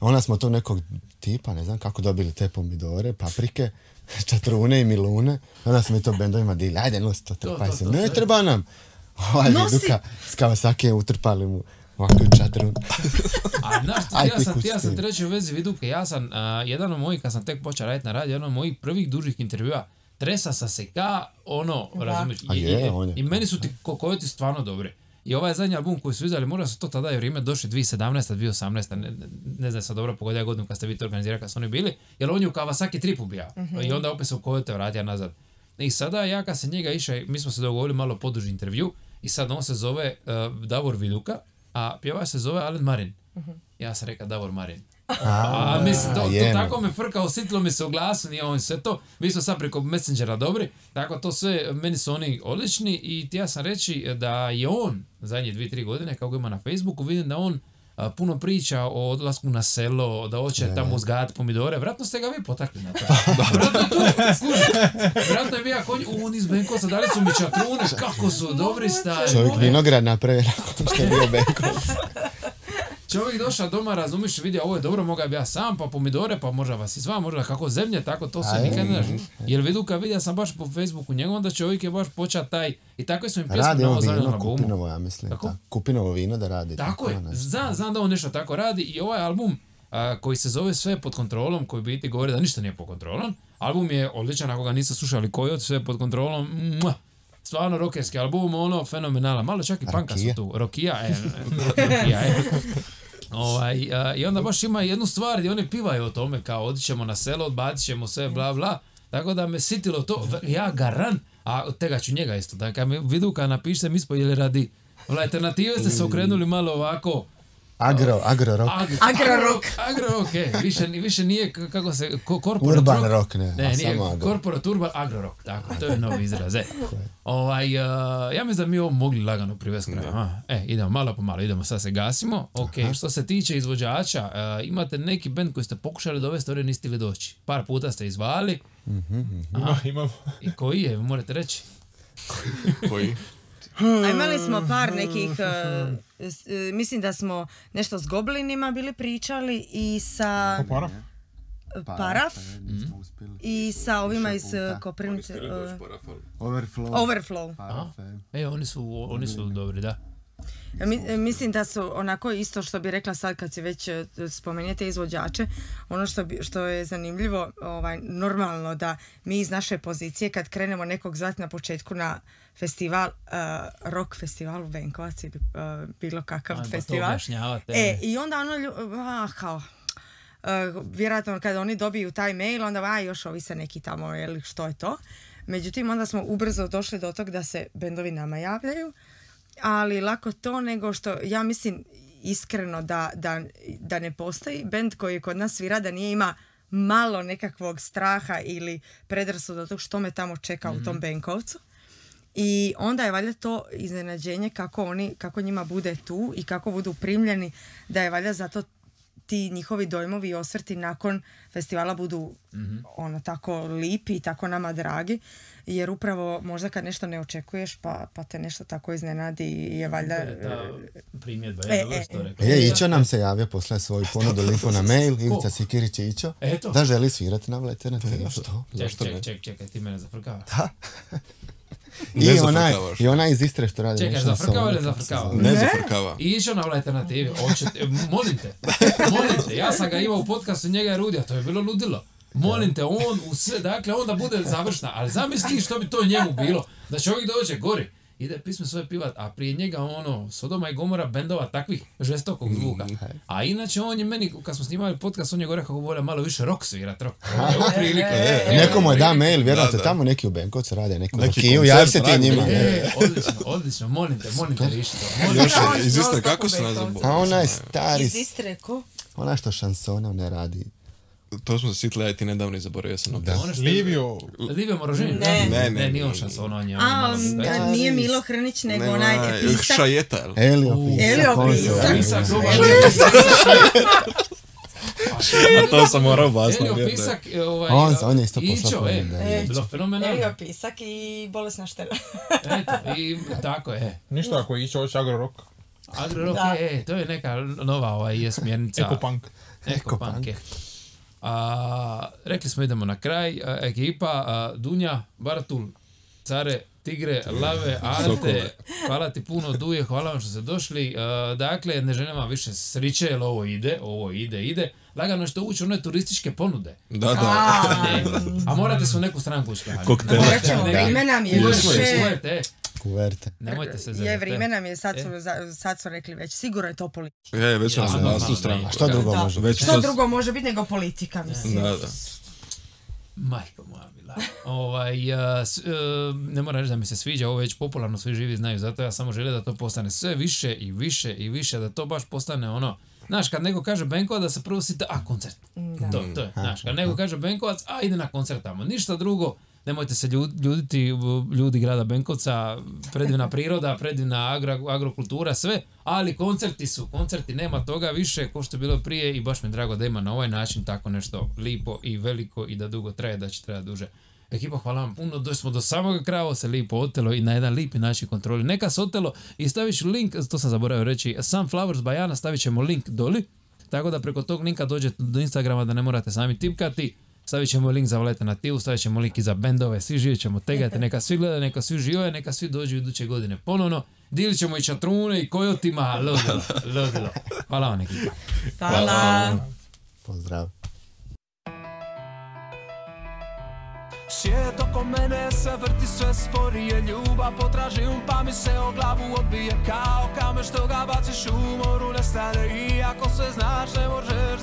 Speaker 3: Onda smo to nekog tipa, ne znam kako, dobili te pomidore, paprike, čatrune i milune. Onda smo mi to bendovima dili, ajde nosi to, trpaj se. Ne treba nam. Duka s Kawasaki je utrpali mu ovako čatrun.
Speaker 2: A znaš, ja sam treći u vezi Viduke, ja sam, jedan od mojih, kad sam tek počeo raditi na radiju, jedan od mojih prvih dužih intervjua, tresa sa se ka, razumiješ, i meni su ti kokojoti stvarno dobre. I ovaj zadnji album koji su izdali, možda su to tada i vrijeme došli 2017. 2018. Ne znam sad dobro pogodio godinu kad ste vi to organizirali kad su oni bili, jer on je u Kawasaki tripu bio. I onda opet se u Koyote vratio nazad. I sada ja kad se njega išao, mi smo se dogovorili malo poduži intervju i sad on se zove Davor Viduka, a pjevač se zove Alen Marin. Ja sam rekao Davor Marin. A mislim, to tako me frka, osjetilo mi se u glasu, nije on sve to. Mi smo sad preko Messengera dobri, tako to sve, meni su oni odlični i ja sam reći da je on zadnje 2-3 godine, kako ima na Facebooku, vidim da on puno priča o odlasku na selo, da hoće tamo uzgajati pomidore. Vratno ste ga vi potakli na to. Vratno je bio on iz Benkovca, dali su mi čatrune, kako su dobri stari.
Speaker 3: Čovjek vinograd napravi nakon što je bio Benkovac.
Speaker 2: Čovjek došao doma, razumiš, vidio ovo je dobro, moga bi ja sam, pa pomidore, pa možda vas i sva, možda kako zemlje, tako to se nikad ne daži. Jer vidu kad vidio sam baš po Facebooku njegov, onda čovjek je baš počeo taj, i takve su im pjesme na ovo zadnjem albumu.
Speaker 3: Kupinovo, ja mislim. Tako? Kupinovo vino da radi.
Speaker 2: Tako je, znam da on nešto tako radi i ovaj album koji se zove Sve pod kontrolom, koji biti govori da ništa nije pod kontrolom, album je odličan, ako ga niste slušali Koyot, Sve pod kontrolom, stvarno rockerski album, ono, fenomenala, malo čak i panka su tu, Rokija. I onda baš ima jednu stvar gdje oni pivaju o tome kao odićemo na selo, odbacit ćemo sve, bla bla, tako da me sitilo to, ja garan, a tega ću njega isto, da kad mi vidu kad napišete mi ispojili radi, alternative ste se okrenuli malo ovako,
Speaker 3: Agro rock.
Speaker 2: Više nije kako se
Speaker 3: urban rock,
Speaker 2: nije corporate urban agro rock, tako, to je novi izraz. Ja mislim da mi ovo mogli lagano privesti kraju. Idemo malo po malo, idemo, sad se gasimo. Što se tiče izvođača, imate neki band koji ste pokušali dovesti, ovdje niste li doći. Par puta ste izvali.
Speaker 6: Imamo.
Speaker 2: I koji je, morate reći?
Speaker 4: Koji?
Speaker 5: A imali smo par nekih, mislim da smo nešto s Goblinima bili pričali i sa Paraf i sa ovima iz Koprivnice. Overflow.
Speaker 2: Oni su dobri, da.
Speaker 5: Mislim da su onako isto što bi rekla sad kad si već spomenete izvođače, ono što je zanimljivo, normalno da mi iz naše pozicije kad krenemo nekog zvati na početku na festival, rock festival u Benkovac ili bilo kakav festival. I onda ono vjerojatno kada oni dobiju taj mail, onda još ovi se neki tamo, što je to. Međutim, onda smo ubrzo došli do tog da se bendovi nama javljaju, ali lako to nego što, ja mislim iskreno da ne postoji bend koji kod nas svira da nije ima malo nekakvog straha ili predrasuda tog što me tamo čeka u tom Benkovcu. I onda je valjda to iznenađenje kako njima bude tu i kako budu primljeni, da je valjda zato ti njihovi dojmovi i osvrti nakon festivala budu tako lipi i tako nama dragi, jer upravo možda kad nešto ne očekuješ pa te nešto tako iznenadi je valjda...
Speaker 2: Primjedba je dobro što rekao.
Speaker 3: Ićo nam se javio posle svoju ponudu liku na mail, Ivica Sikirić je Ićo, da želi svirati na alternativu. Što?
Speaker 2: Čekaj, ti mene zafrkava.
Speaker 3: Da. I ona iz Istre što radi.
Speaker 2: Čekaj, zafrkava ili zafrkava?
Speaker 4: Ne zafrkava.
Speaker 2: I išao na alternativi. Molim te, ja sam ga imao u podcastu, njega je Rudija, to je bilo ludilo. Molim te, on u sve, dakle, onda bude završna, ali zamisli što bi to njemu bilo, da čovjek dođe gori, ide pisme svoje pivat, a prije njega Sodoma i Gomora bendova takvih žestokog zvuka. A inače on je meni, kad smo snimali podcast, on je gore kako vole malo više rock svirat, rock.
Speaker 3: Nekomu je da mail, vjerojatno tamo neki u Benkovcu rade, neku Kiju, javi se ti njima.
Speaker 2: Odlično, molim te, riši to.
Speaker 4: Još iz Istre, kako se nazvam?
Speaker 3: A ona je stari...
Speaker 5: Iz Istre, ko?
Speaker 3: Ona što šansona ne radi.
Speaker 4: To smo se sitli, ja i ti nedavno i zaboravio sam opet.
Speaker 6: Livio
Speaker 2: Morožin? Ne, nije on šanson, on je...
Speaker 5: Nije Milo Hrnić, nego onaj pisak.
Speaker 4: Šajeta, jel?
Speaker 3: Elio
Speaker 5: Pisak.
Speaker 4: A to sam morao basno.
Speaker 2: Elio Pisak,
Speaker 3: on je isto poslao.
Speaker 2: Bilo fenomenalno.
Speaker 5: Elio Pisak i Bolesna štela.
Speaker 2: Eto, i tako je.
Speaker 6: Ništa ako je išao agro rock.
Speaker 2: Agro rock, to je neka nova smjernica. Ekopunk. Rekli smo idemo na kraj, ekipa Dunja, Baratul, Care, Tigre, Lave, Ante, hvala ti puno Duje, hvala vam što ste došli, dakle ne želim vam više sriće jer ovo ide, lagano što ući u one turističke ponude.
Speaker 4: Da.
Speaker 2: A morate se u neku stranku ušli.
Speaker 4: Koktele.
Speaker 5: Morat ćemo, ime nam je više.
Speaker 3: Kuverte.
Speaker 2: Nemojte se
Speaker 5: Je,
Speaker 2: zezati.
Speaker 5: vrijeme nam je, sad su rekli već, sigurno je to politika.
Speaker 4: Već sam se na tu stranu.
Speaker 3: Što drugo može biti?
Speaker 5: Što drugo može biti nego politika, mislim.
Speaker 4: Da.
Speaker 2: Majko moja bila. Ne moram reći da mi se sviđa, ovo već popularno, svi živi znaju, zato ja samo želim da to postane sve više i više i više, da to baš postane ono, znaš, kad neko kaže Benkovac, da se prvo sita, koncert. To je, znaš, kad neko kaže Benkovac, ide na koncert tamo, ništa drugo. Nemojte se ljuditi, ljudi grada Benkovca, predivna priroda, predivna agrokultura, sve, ali koncerti, nema toga više ko što je bilo prije i baš mi je drago da ima na ovaj način tako nešto lipo i veliko i da dugo traje, da će trajati duže. Ekipa, hvala vam puno, došli smo do samoga kraja, ovo se lipo otelo i na jedan lipi način kontroli. Neka se otelo i stavit ću link, to sam zaboravio reći, Sunflowers by Jana, stavit ćemo link doli, tako da preko tog linka dođete do Instagrama da ne morate sami tipkati. Stavit ćemo link za Valeta na Tivu, stavit ćemo link i za bendove, svi živjet ćemo tegati, neka svi gledaju, neka svi živaju, neka svi dođu iduće godine ponovno. Dilit ćemo i čatrune i kojotima, ludilo. Hvala vam ekipa.
Speaker 5: Hvala.
Speaker 3: Pozdrav.
Speaker 1: Svijet oko mene se vrti sve sporije, ljubav potražim pa mi se o glavu odbije kao kamen što ga baciš u moru nestane. I ako sve znaš ne možeš